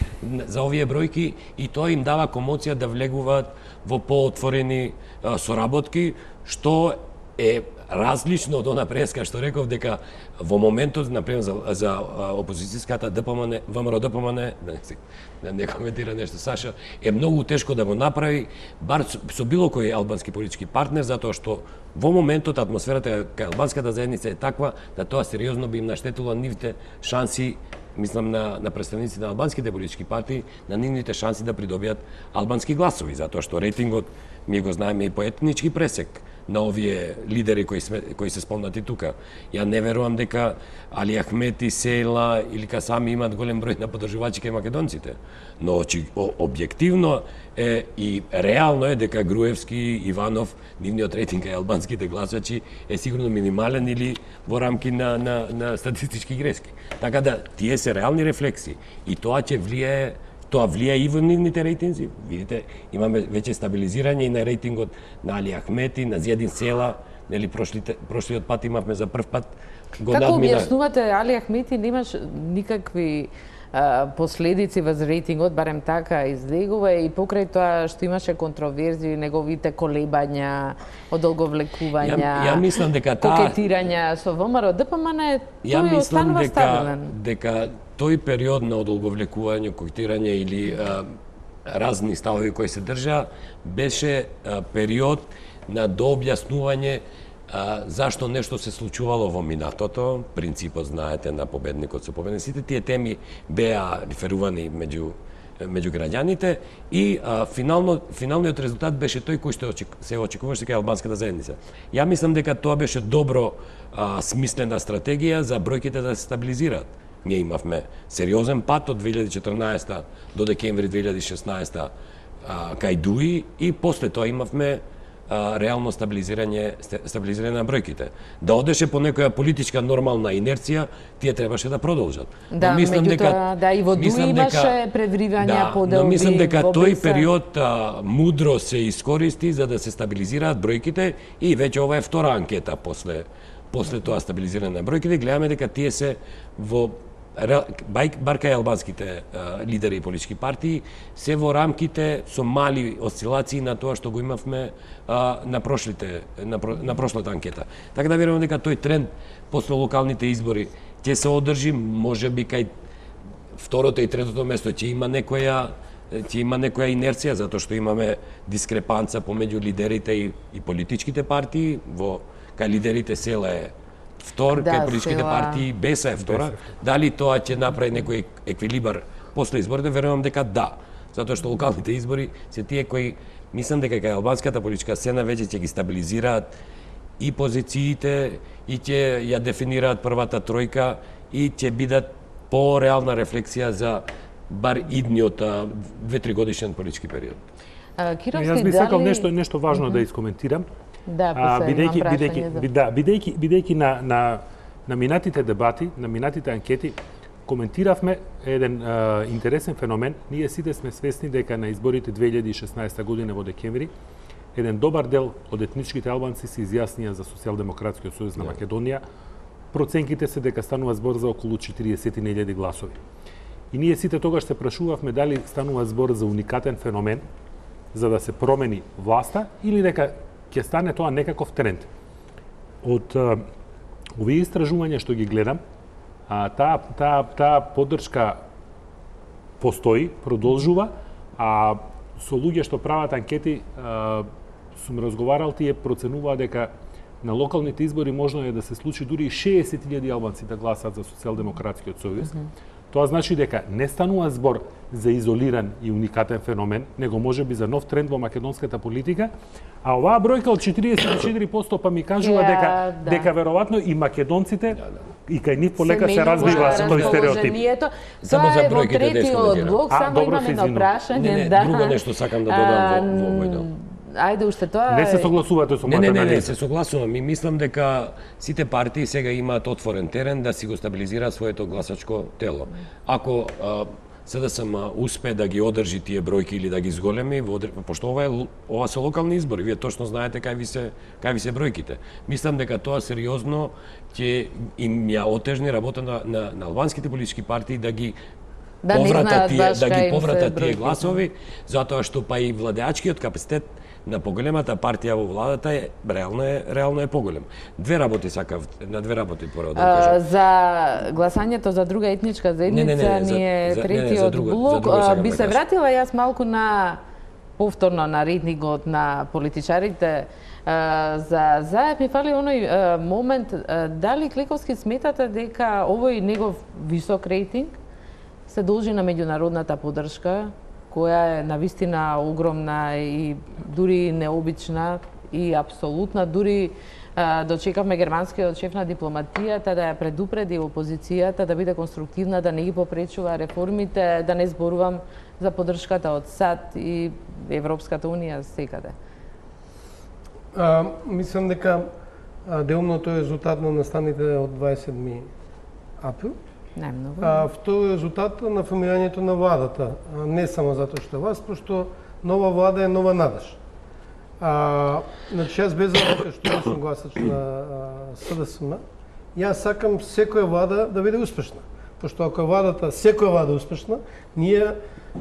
за овие бројки и тоа им дава комоција да влегуваат во поотворени соработки, што е различно од она преска што реков дека во моментот, например, за опозицијската ДПМН, ВМРО ДПМН, да не коментира нешто Саша, е многу тешко да го направи, бар со било кој албански политички партнер, затоа што во моментот атмосферата кај албанската заедница е таква да тоа сериозно би им наштетило нивите шанси, мислам на представници на албанските политички партии, на нивните шанси да придобијат албански гласови, затоа што рейтингот ми го знаеме и по етнички пресек на овие лидери кои се спомнати тука. Ја не верувам дека Али Ахмети, Сейла или Касами имаат голем број на подржувачи кај македонците. Но објективно е и реално е дека Груевски, Иванов, нивниот рейтинг кај албанските гласачи е сигурно минимален или во рамки на статистички грешки. Така да тие се реални рефлекси и тоа ќе влијае. Тоа влија и во нивните рейтинзи. Видите, имаме веќе стабилизирање и на рейтингот на Али Ахмети, на Зијадин Села, нели прошлиот пат имавме за прв пат го надмина. Како објаснувате Али Ахмети немаш никакви последици во рейтингот, барем така излегува и покрај тоа што имаше контроверзии, неговите колебања, одолговлекувања, ја мислам дека кокетирања со ВМРО ДПМН, тој останува стабилен. Дека тој период на одолговлекување, кокетирање или разни ставови кои се држа, беше период на дообјаснување зашто нешто се случувало во минатото, принципот, знаете, на победникот со победник. Сите тие теми беа реферувани меѓу меѓу граѓаните и финалниот резултат беше тој кој што се очекуваше кај албанската заедница. Ја мислам дека тоа беше добро смислена стратегија за бројките да се стабилизираат. Ние имавме сериозен пат од 2014 до декември 2016 кај ДУИ и после тоа имавме реално стабилизирање на бројките. Да одеше по некоја политичка нормална инерција, тие требаше да продолжат. Да, меѓутоа, да, и во ДУИ имаше предвривања, поделби. Но мислам дека тој период мудро се искористи за да се стабилизираат бројките и веќе ова е втора анкета после тоа стабилизирање на бројките, гледаме дека тие се во бар кај албанските лидери и политички партии, се во рамките со мали осцилации на тоа што го имавме на прошлата анкета. Така да верувам дека тој тренд после локалните избори ќе се одржи, можеби кај второто и третото место ќе има некоја инерција, затоа што имаме дискрепанца помеѓу лидерите и политичките партии, кај лидерите Села е втор, кај политичките партии Беса е втора. Дали тоа ќе направи некој еквилибар после изборите? Верувам дека да. Затоа што локалните избори се тие кои, мислам дека кај албанската политичка сцена веќе ќе ги стабилизираат и позициите, и ќе ја дефинираат првата тројка, и ќе бидат по-реална рефлексија за бар идниот 2-3 годишен политички период. Јас би сакал нешто важно да искоментирам. Да, бидејќи на минатите дебати, на минатите анкети, коментиравме еден интересен феномен. Ние сите сме свесни дека на изборите 2016 година во декември, еден добар дел од етничките албанци се изјаснија за Социјалдемократскиот сојуз на Македонија. Проценките се дека станува збор за околу 40.000 гласови. И ние сите тогаш се прашувавме дали станува збор за уникатен феномен за да се промени власта или дека ќе стане тоа некаков тренд. Од овие истражувања што ги гледам, таа поддршка постои, продолжува, а со луѓе што прават анкети, сум разговарал, тие проценуваат дека на локалните избори можно е да се случи дури 60.000 албанци да гласат за Социјалдемократскиот сојуз. Тоа значи дека не станува збор за изолиран и уникатен феномен, него можеби за нов тренд во македонската политика, а оваа бројка од 44% па ми кажува дека веројатно и македонците и кај нив полека се разбива тој стереотип. Само за бројките третиот блок, само имаме едно прашање. Друго нешто сакам да додам во мојно. Ајде уште тоа. Не се согласувате со мојата анализа. Не, се согласувам. И мислам дека сите партии сега имаат отворен терен да си го стабилизираат своето гласачко тело. Ако СДСМ успе да ги одржи тие бројки или да ги зголеми, пошто ова се локални избори, вие точно знаете кај ви се бројките. Мислам дека тоа сериозно ќе им ја отежни работа на албанските политички партии да ги повратат тие гласови, затоа што па и владеачкиот капацитет на поголемата партија во владата реално е поголем. На две работи прво да кажам. За гласањето за друга етничка заедница, ние третиот блок, би се вратила јас малку на повторно на рейтингот на политичарите. За Заев ми фали оној момент, дали Кликовски сметате дека овој негов висок рейтинг се должи на меѓународната поддршка, која е навистина огромна и дури необична и апсолутна. Дури дочекавме германскиот шеф на дипломатијата да ја предупреди опозицијата да биде конструктивна, да не ги попречува реформите, да не зборувам за поддршката од САД и Европската унија секаде. Мислам дека делно тоа е резултат на настаните од 27 април. Најмногу. Второ резултат на формирањето на владата, не само затоа што вас, пошто нова влада е нова надеж. Значи, јас без разлика што не сум гласач на СДСМ, јас сакам секоја влада да биде успешна. Пошто ако секоја влада е успешна, ние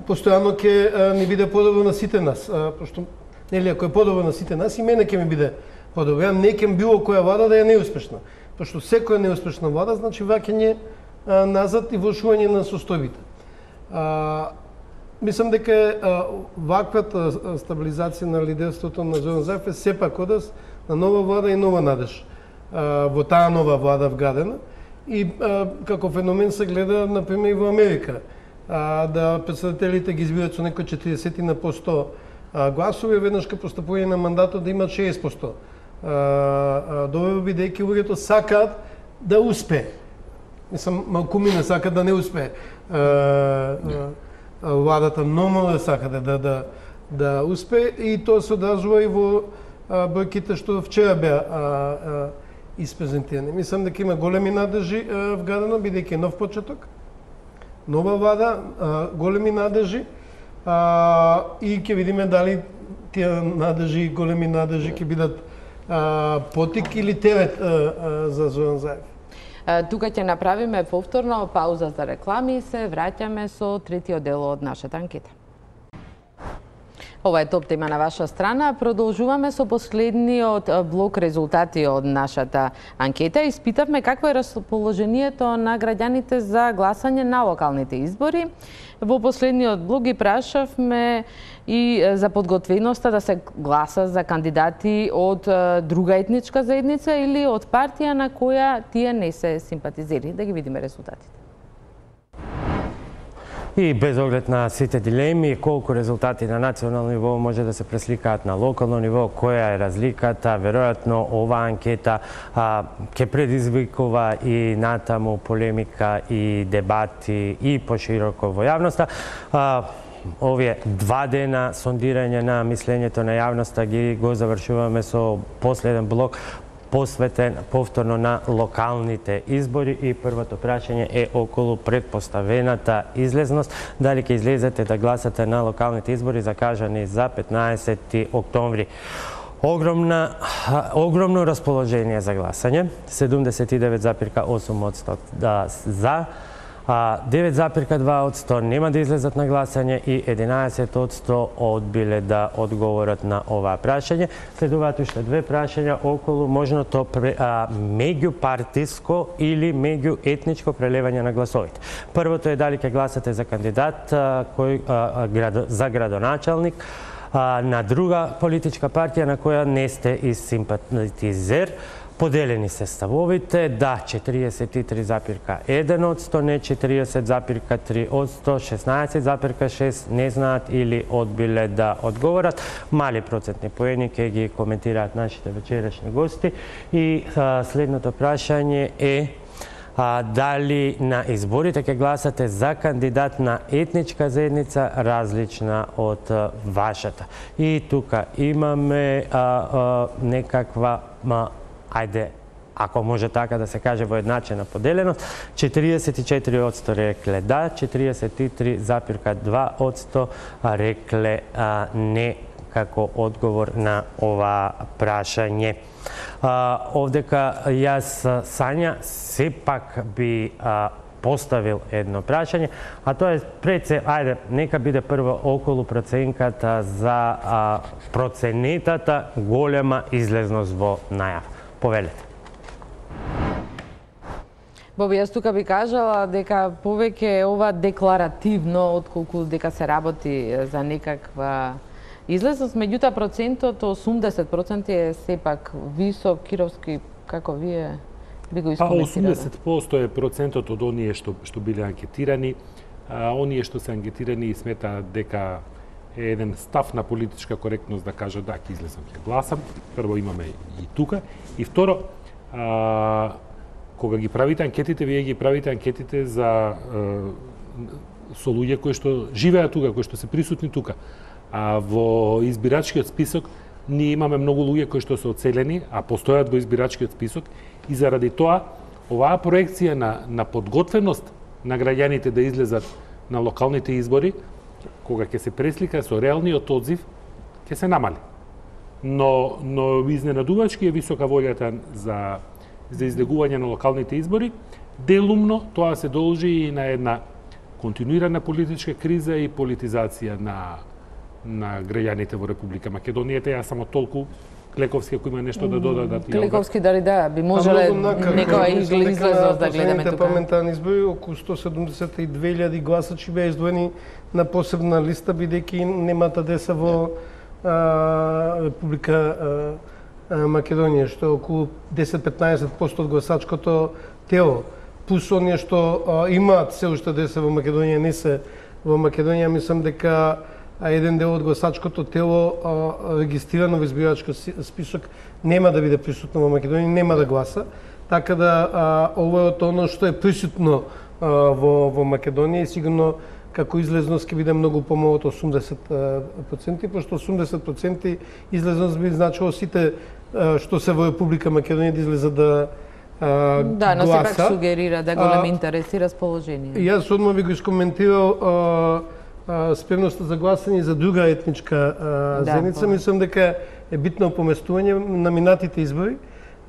постојано ќе ни биде подобро на сите нас. Пошто, нели, ако е подобро на сите нас, и мене ќе ми биде подобро. Ја не кем било која влада да е неуспешна. Пошто секоја неуспешна влада значи враќање назад и влошување на состојбите. Мислам дека ваквата стабилизација на лидерството на Зоран Заев е сепак одас на нова влада и нова надеж во таа нова влада вградена и како феномен се гледа, например, и во Америка, да председателите ги избират со некој 40% гласови, веднаш кај постапување на мандатот да имат 60%. Добро бидејќи луѓето сакаат да успее. Мислам, малкумина сака да не успее. Владата номало сака да успее и тоа се одразува и во бројките што вчера беа испрезентирани. Мислам дека има големи надежи вградено, бидејќи нов почеток, нова влада, големи надежи и ќе видиме дали тие надежи, големи надежи ќе бидат потик или терет за Зоран Заев. Тука ќе направиме повторно пауза за реклами и се враќаме со третиот дел од нашата анкета. Ова е топ тема на ваша страна. Продолжуваме со последниот блок резултати од нашата анкета. Испитавме какво е расположението на граѓаните за гласање на локалните избори. Во последниот блок ги прашавме и за подготвеноста да се гласа за кандидати од друга етничка заедница или од партија на која тие не се симпатизери. Да ги видиме резултатите. И без оглед на сите дилеми, колку резултати на национално ниво може да се пресликаат на локално ниво, која е разликата, веројатно оваа анкета ќе предизвикува и натаму полемика и дебати и пошироко во јавноста. Овие 2 дена сондирање на мислењето на јавноста го завршуваме со последен блок посветен повторно на локалните избори и првото прашање е околу предпоставената излезност. Дали ќе излезете да гласате на локалните избори закажани за 15 октомври. Огромно расположение за гласање, 79,8% за, 9,2% нема да излезат на гласање и 11% одбиле да одговорат на оваа прашање. Следуваат уште 2 прашања околу можното меѓупартиско или меѓуетничко прелевање на гласовите. Првото е дали ќе гласате за кандидат за градоначалник на друга политичка партија на која не сте и симпатизер. Поделени се ставовите, да 43,1%, не 40,3%, 16,6% не знаат или одбиле да одговорат. Мали процентни поени ќе ги коментираат нашите вечерашни гости. И следното прашање е дали на изборите ќе гласате за кандидат на етничка заедница различна од вашата. И тука имаме некаква ако може така да се каже воедначена поделеност, 44% рекле да, 43,2% рекле не како одговор на ова прашање. Овдека јас, Сања, сепак би поставил едно прашање, а тоа е пред се, нека биде прво околу проценката за проценетата голема излезност во најав. Повелете. Боби, јас тука би кажала дека повеќе е ова декларативно, отколку дека се работи за некаква излезност. Меѓутоа, процентот 80% е сепак висок. Кировски, како вие би го искоментирали? 80% е процентот од оние што биле анкетирани. Оние што се анкетирани сметаат дека е еден став на политичка коректност да кажа да, ќе излезам, ќе гласам. Прво имаме и тука. И второ, кога ги правите анкетите, вие ги правите анкетите за со луѓе кои што живеат тука, кои што се присутни тука. А во избирачкиот список ние имаме многу луѓе кои што се одселени, а постојат во избирачкиот список и заради тоа оваа проекција на подготвеност на граѓаните да излезат на локалните избори, кога ќе се преслика со реалниот одзив, ќе се намали. Но изненадувачки е висока волјата за излегување на локалните избори. Делумно тоа се должи и на една континуирана политичка криза и политизација на граѓаните во Република Македонија. Јас само толку Клековски, ако има нешто да додадат. Клековски, дали да, би можеле некоја излезност да гледаме тука. Парламентарни избори, околу 172.000 гласачи беа издвоени на посебна листа, бидејќи немата деца во Република Македонија, што е околу 10-15% од гласачкото тело. плюс оние што имаат се уште да се во Македонија, не се во Македонија, мислам дека еден дел од гласачкото тело регистрирано во избирачки список нема да биде присутно во Македонија, нема да гласа. Така да ова е оно што е присутно во Македонија и сигурно како излезност ќе биде многу помалку од 80%, пошто 80% излезност би значило сите што се во Република Македонија да излезат да Да, но гласа. сепак сугерира да голем интерес и расположение. Јас одма би го искоментирал спремноста за гласање за друга етничка заедница. Мислам дека е битно поместување на минатите избори.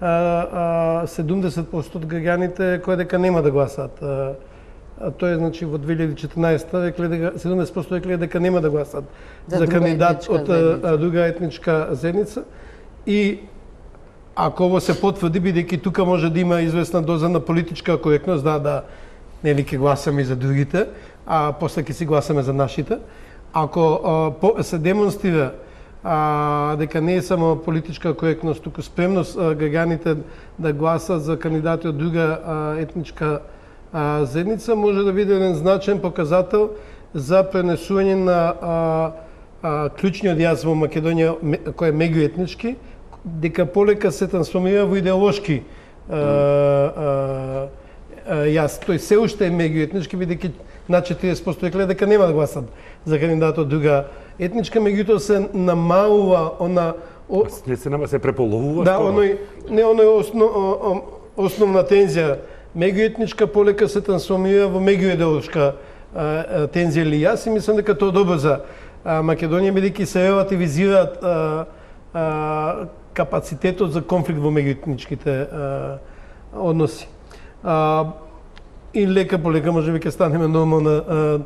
70% од граѓаните кои дека нема да гласаат. Тоа е значи во 2014 рекле дека 70% рекле дека нема да гласаат за кандидат од друга етничка заедница. И ако ово се потврди, бидејќи тука може да има известна доза на политичка коректност, да нели ќе гласаме и за другите, а после ќе си гласаме за нашите. Ако се демонстрира дека не е само политичка коректност, туку спремност граѓаните да гласат за кандидати од друга етничка заедница, може да биде еден значен показател за пренесување на клучниот јас во Македонија, кој е меѓуетнички, дека полека се трансформира во идеолошки јас. Тој се уште е меѓуетнички, бидејќи на 40% рекле дека нема да гласат за кандидат од друга етничка, меѓутоа се намалува она Не се нема се преполовува. Да, оној основна тензија меѓуетничка полека се трансформира во меѓуидеолошка тензија или јас, и мислам дека тоа добро за Македонија, бидејќи се релативизираат капацитетот за конфликт во меѓуетничките односи. И лека полека можеби ќе станеме нормална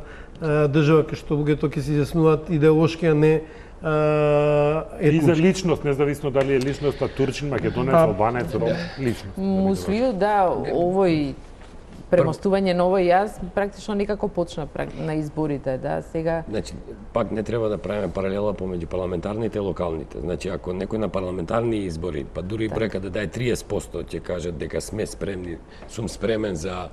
држава кај што луѓето ќе се изјаснуваат идеолошки, а не И за личност, независно дали е личноста турчин, македонец, албанец, ром, личност. Муслио, да, овој премостување на овој јас практично никако почна на изборите, да, сега. Значи, пак не треба да правиме паралела помеѓу парламентарните и локалните. Значи, ако некој на парламентарни избори, па дури брека да даде 30%, ќе кажат дека сме спремни, сум спремен за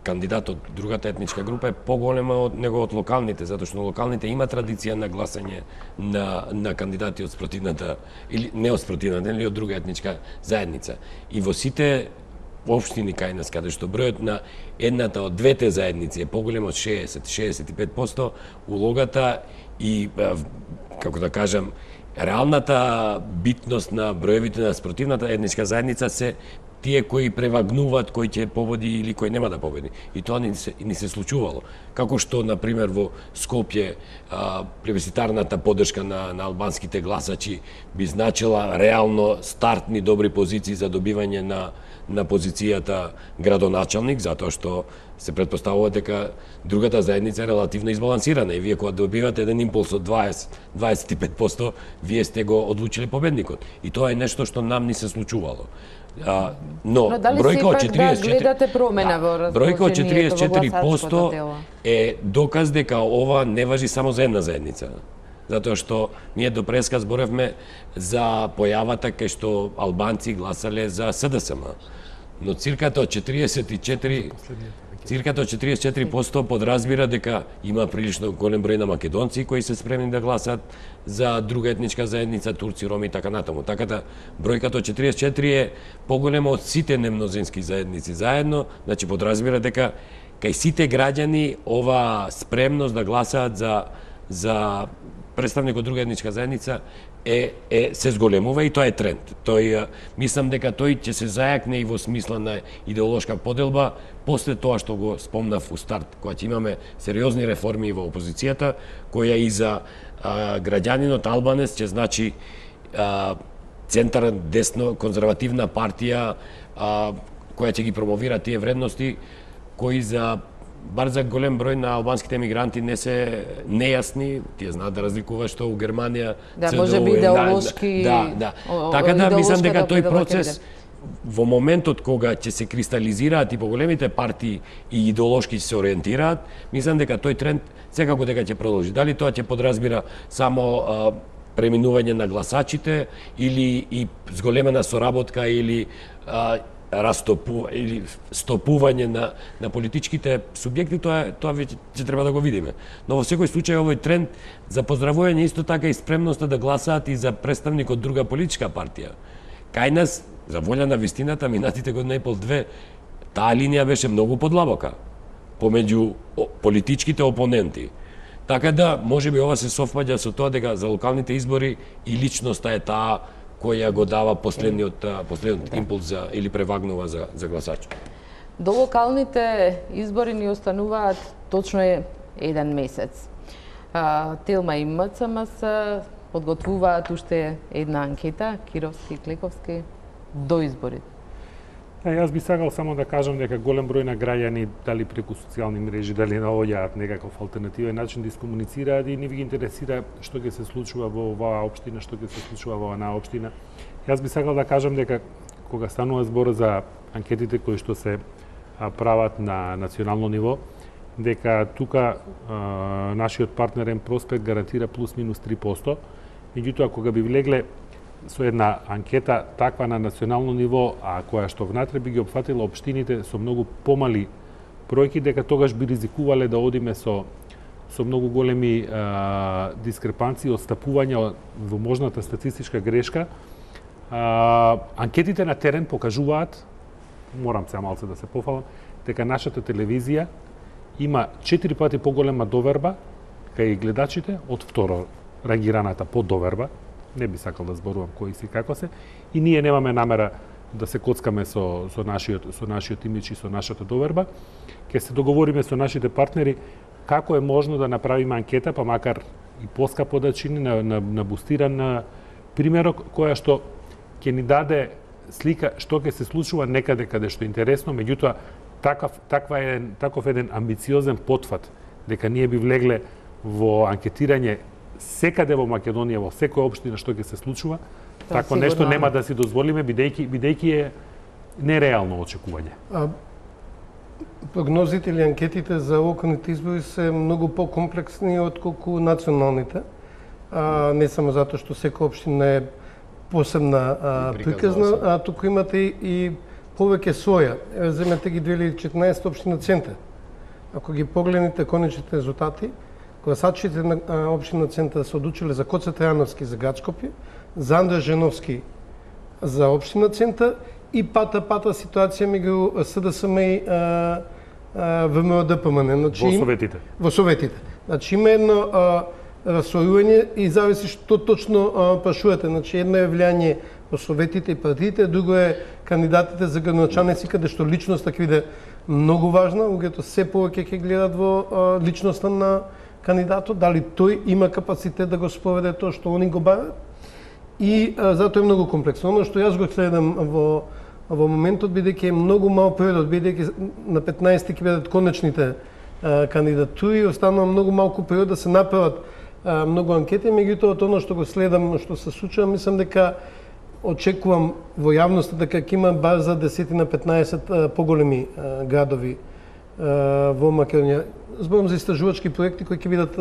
кандидат од другата етничка група, е поголема од него од локалните, затоа што локалните има традиција на гласање на кандидати од спротивната, или не од спротивната, или од друга етничка заедница. И во сите општини кај нас, каде што бројот на едната од двете заедници е поголем од 60-65%, улогата и, како да кажам, реалната битност на броевите на спротивната етничка заедница се тие кои превагнуваат, кој ќе победи или кој нема да победи. И тоа ни се случувало. Како што, например, во Скопје плебисцитарната поддршка на албанските гласачи би значила реално стартни добри позиции за добивање на позицијата градоначалник, затоа што се претпоставува дека другата заедница е релативно избалансирана и вие кога добивате еден импулс од 20-25%, вие сте го одлучили победникот. И тоа е нешто што нам ни се случувало. Но бројка од 44% е доказ дека ова не важи само за една заедница. Затоа што ние до преска зборевме за појавата кај што албанци гласале за СДСМ. Но цирката од 44% подразбира дека има прилично голем број на македонци кои се спремни да гласат за друга етничка заедница, турци, роми и така натаму. Така да бројката од 44 е поголема од сите немнозински заедници заедно, значи подразбира дека кај сите граѓани ова спремност да гласаат за представник од друга етничка заедница се зголемува и тоа е тренд. Мислам дека тој ќе се зајакне и во смисла на идеолошка поделба после тоа што го спомнав у старт, кога ќе имаме сериозни реформи во опозицијата, која и за граѓанинот албанец ќе значи центар десно конзервативна партија која ќе ги промовира тие вредности кои бар за голем број на албанските емигранти не се нејасни, тие знаат да разликува што у Германија можеби идеолошки. Така да мислам дека тој процес во моментот кога ќе се кристализираат и поголемите партии и идеолошки ќе се ориентираат, мислам дека тој тренд секако дека ќе продолжи. Дали тоа ќе подразбира само преминување на гласачите или и зголемена соработка или или стопување на политичките субјекти, тоа веќе ќе треба да го видиме. Но во секој случај овој тренд за поздравување исто така и спремноста да гласаат и за представник од друга политичка партија. Кај нас, за волја на вистината, минатите година и пол-две, таа линија беше многу подлабока помеѓу политичките опоненти. Така да, можеби ова се совпаѓа со тоа дека за локалните избори и личноста е таа која го дава последниот импулс или превагнува за гласач. До локалните избори ни остануваат точно еден месец. Телма и МЦМС подготвуваат уште една анкета, Кировски и Клековски, до изборите. Јас би сакал само да кажам дека голем број на граѓани, дали преку социјални мрежи, дали наоѓаат некаков алтернативен начин да искомуницираат и не ви ги интересира што ќе се случува во оваа општина, што ќе се случува во онаа општина. Јас би сакал да кажам дека кога станува збор за анкетите кои што се прават на национално ниво, дека тука нашиот партнер М-Проспект гарантира плюс минус 3%, меѓутоа кога би влегле со една анкета таква на национално ниво, а која што внатре би ги опфатила општините со многу помали бројки, дека тогаш би ризикувале да одиме со многу големи дискрепанции, отстапувања во можната статистичка грешка. Анкетите на терен покажуваат, морам сега малце да се пофалам, дека нашата телевизија има 4 пати поголема доверба кај гледачите од второ рангираната поддоверба. Не би сакал да зборувам кои си како се, и ние немаме намера да се коцкаме со нашиот имидж и со нашата доверба. Ќе се договориме со нашите партнери како е можно да направиме анкета, па макар и поскапо да чини, на бустиран примерок, која што ќе ни даде слика што ќе се случува некаде каде што е интересно, меѓутоа таков еден амбициозен потфат, дека ние би влегле во анкетирање секаде во Македонија, во секоја општина што ќе се случува, такво нешто нема да си дозволиме, бидејќи е нереално очекување. Прогнозите или анкетите за локалните избори се многу покомплексни отколку националните. Не само затоа што секоја општина е посебна приказна, а туку имате и повеќе своја. Земете ги 2014 општина Центар. Ако ги погледнете конечните резултати, гласачите на општина Центар се одлучиле за Коце Трајановски за град Скопје, за Андреј Женовски за општина Центар и пата ситуација меѓу СДСМ и ВМРО-ДПМН. Значи, во Советите. Значи има едно расојување и зависи што точно прашувате. Значи едно е влијање во Советите и партиите, друго е кандидатите за градоначалници, каде што личноста ќе биде многу важна, луѓето се повеќе ќе гледат во личноста на кандидатот, дали тој има капацитет да го спроведе тоа што они го барат. И затоа е многу комплексно. Оно што јас го следам во моментот, бидејќи е многу мал период, бидејќи на 15 ќе бидат конечните кандидатури, останува многу малку период да се направат многу анкети, меѓутоа од оно што го следам, што се случува, мислам дека очекувам во јавноста дека ќе има бар за 10 на 15 поголеми градови во Македонија. Зборам за истражувачки проекти кои ќе бидат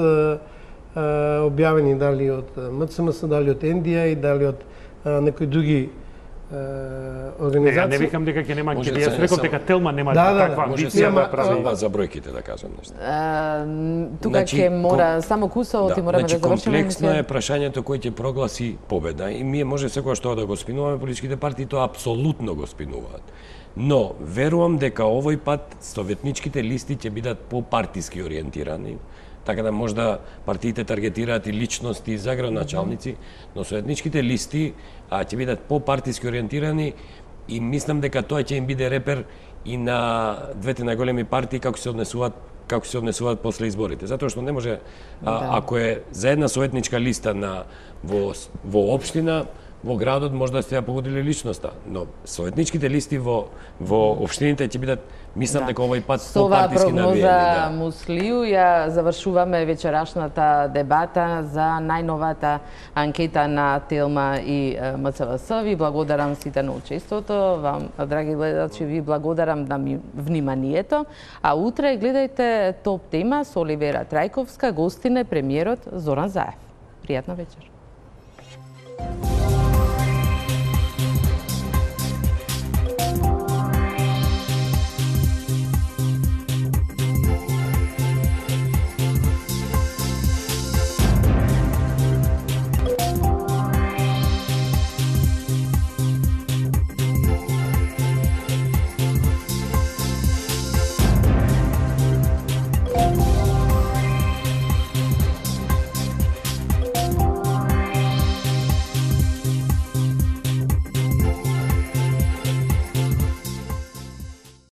објавени дали од МЦМС, дали од НДА и дали од некои други организации. Не викам дека ќе нема анкети, јас реков дека Телма нема таква амбиција да прави. За бројките да кажам нешто. Тука ќе мора само кусавот и мораме да завршиме. Комплексно е прашањето кој ќе прогласи победа и ние може секогаш тоа да го спинуваме, политичките партии тоа апсолутно го спинуваат. Но верувам дека овој пат советничките листи ќе бидат попартиски ориентирани, така да можда партиите таргетираат и личности за градоначалници, но советничките листи ќе бидат попартиски ориентирани и мислам дека тоа ќе им биде репер и на двете најголеми партии како се однесуваат после изборите. Затоа што не може, ако е за една советничка листа во општина, во градот може да сте ја погодили личноста, но советничките листи во општините ќе бидат, мислам дека овој пат попартиски навиени. Со ова прогноза Муслију ја завршуваме вечерашната дебата за најновата анкета на Телма и МЦВС. Ви благодарам сите на учеството. Вам, драги гледачи, ви благодарам на вниманието. А утре гледајте Топ тема со Оливера Трајковска, гостин е премиерот Зоран Заев. Пријатна вечер.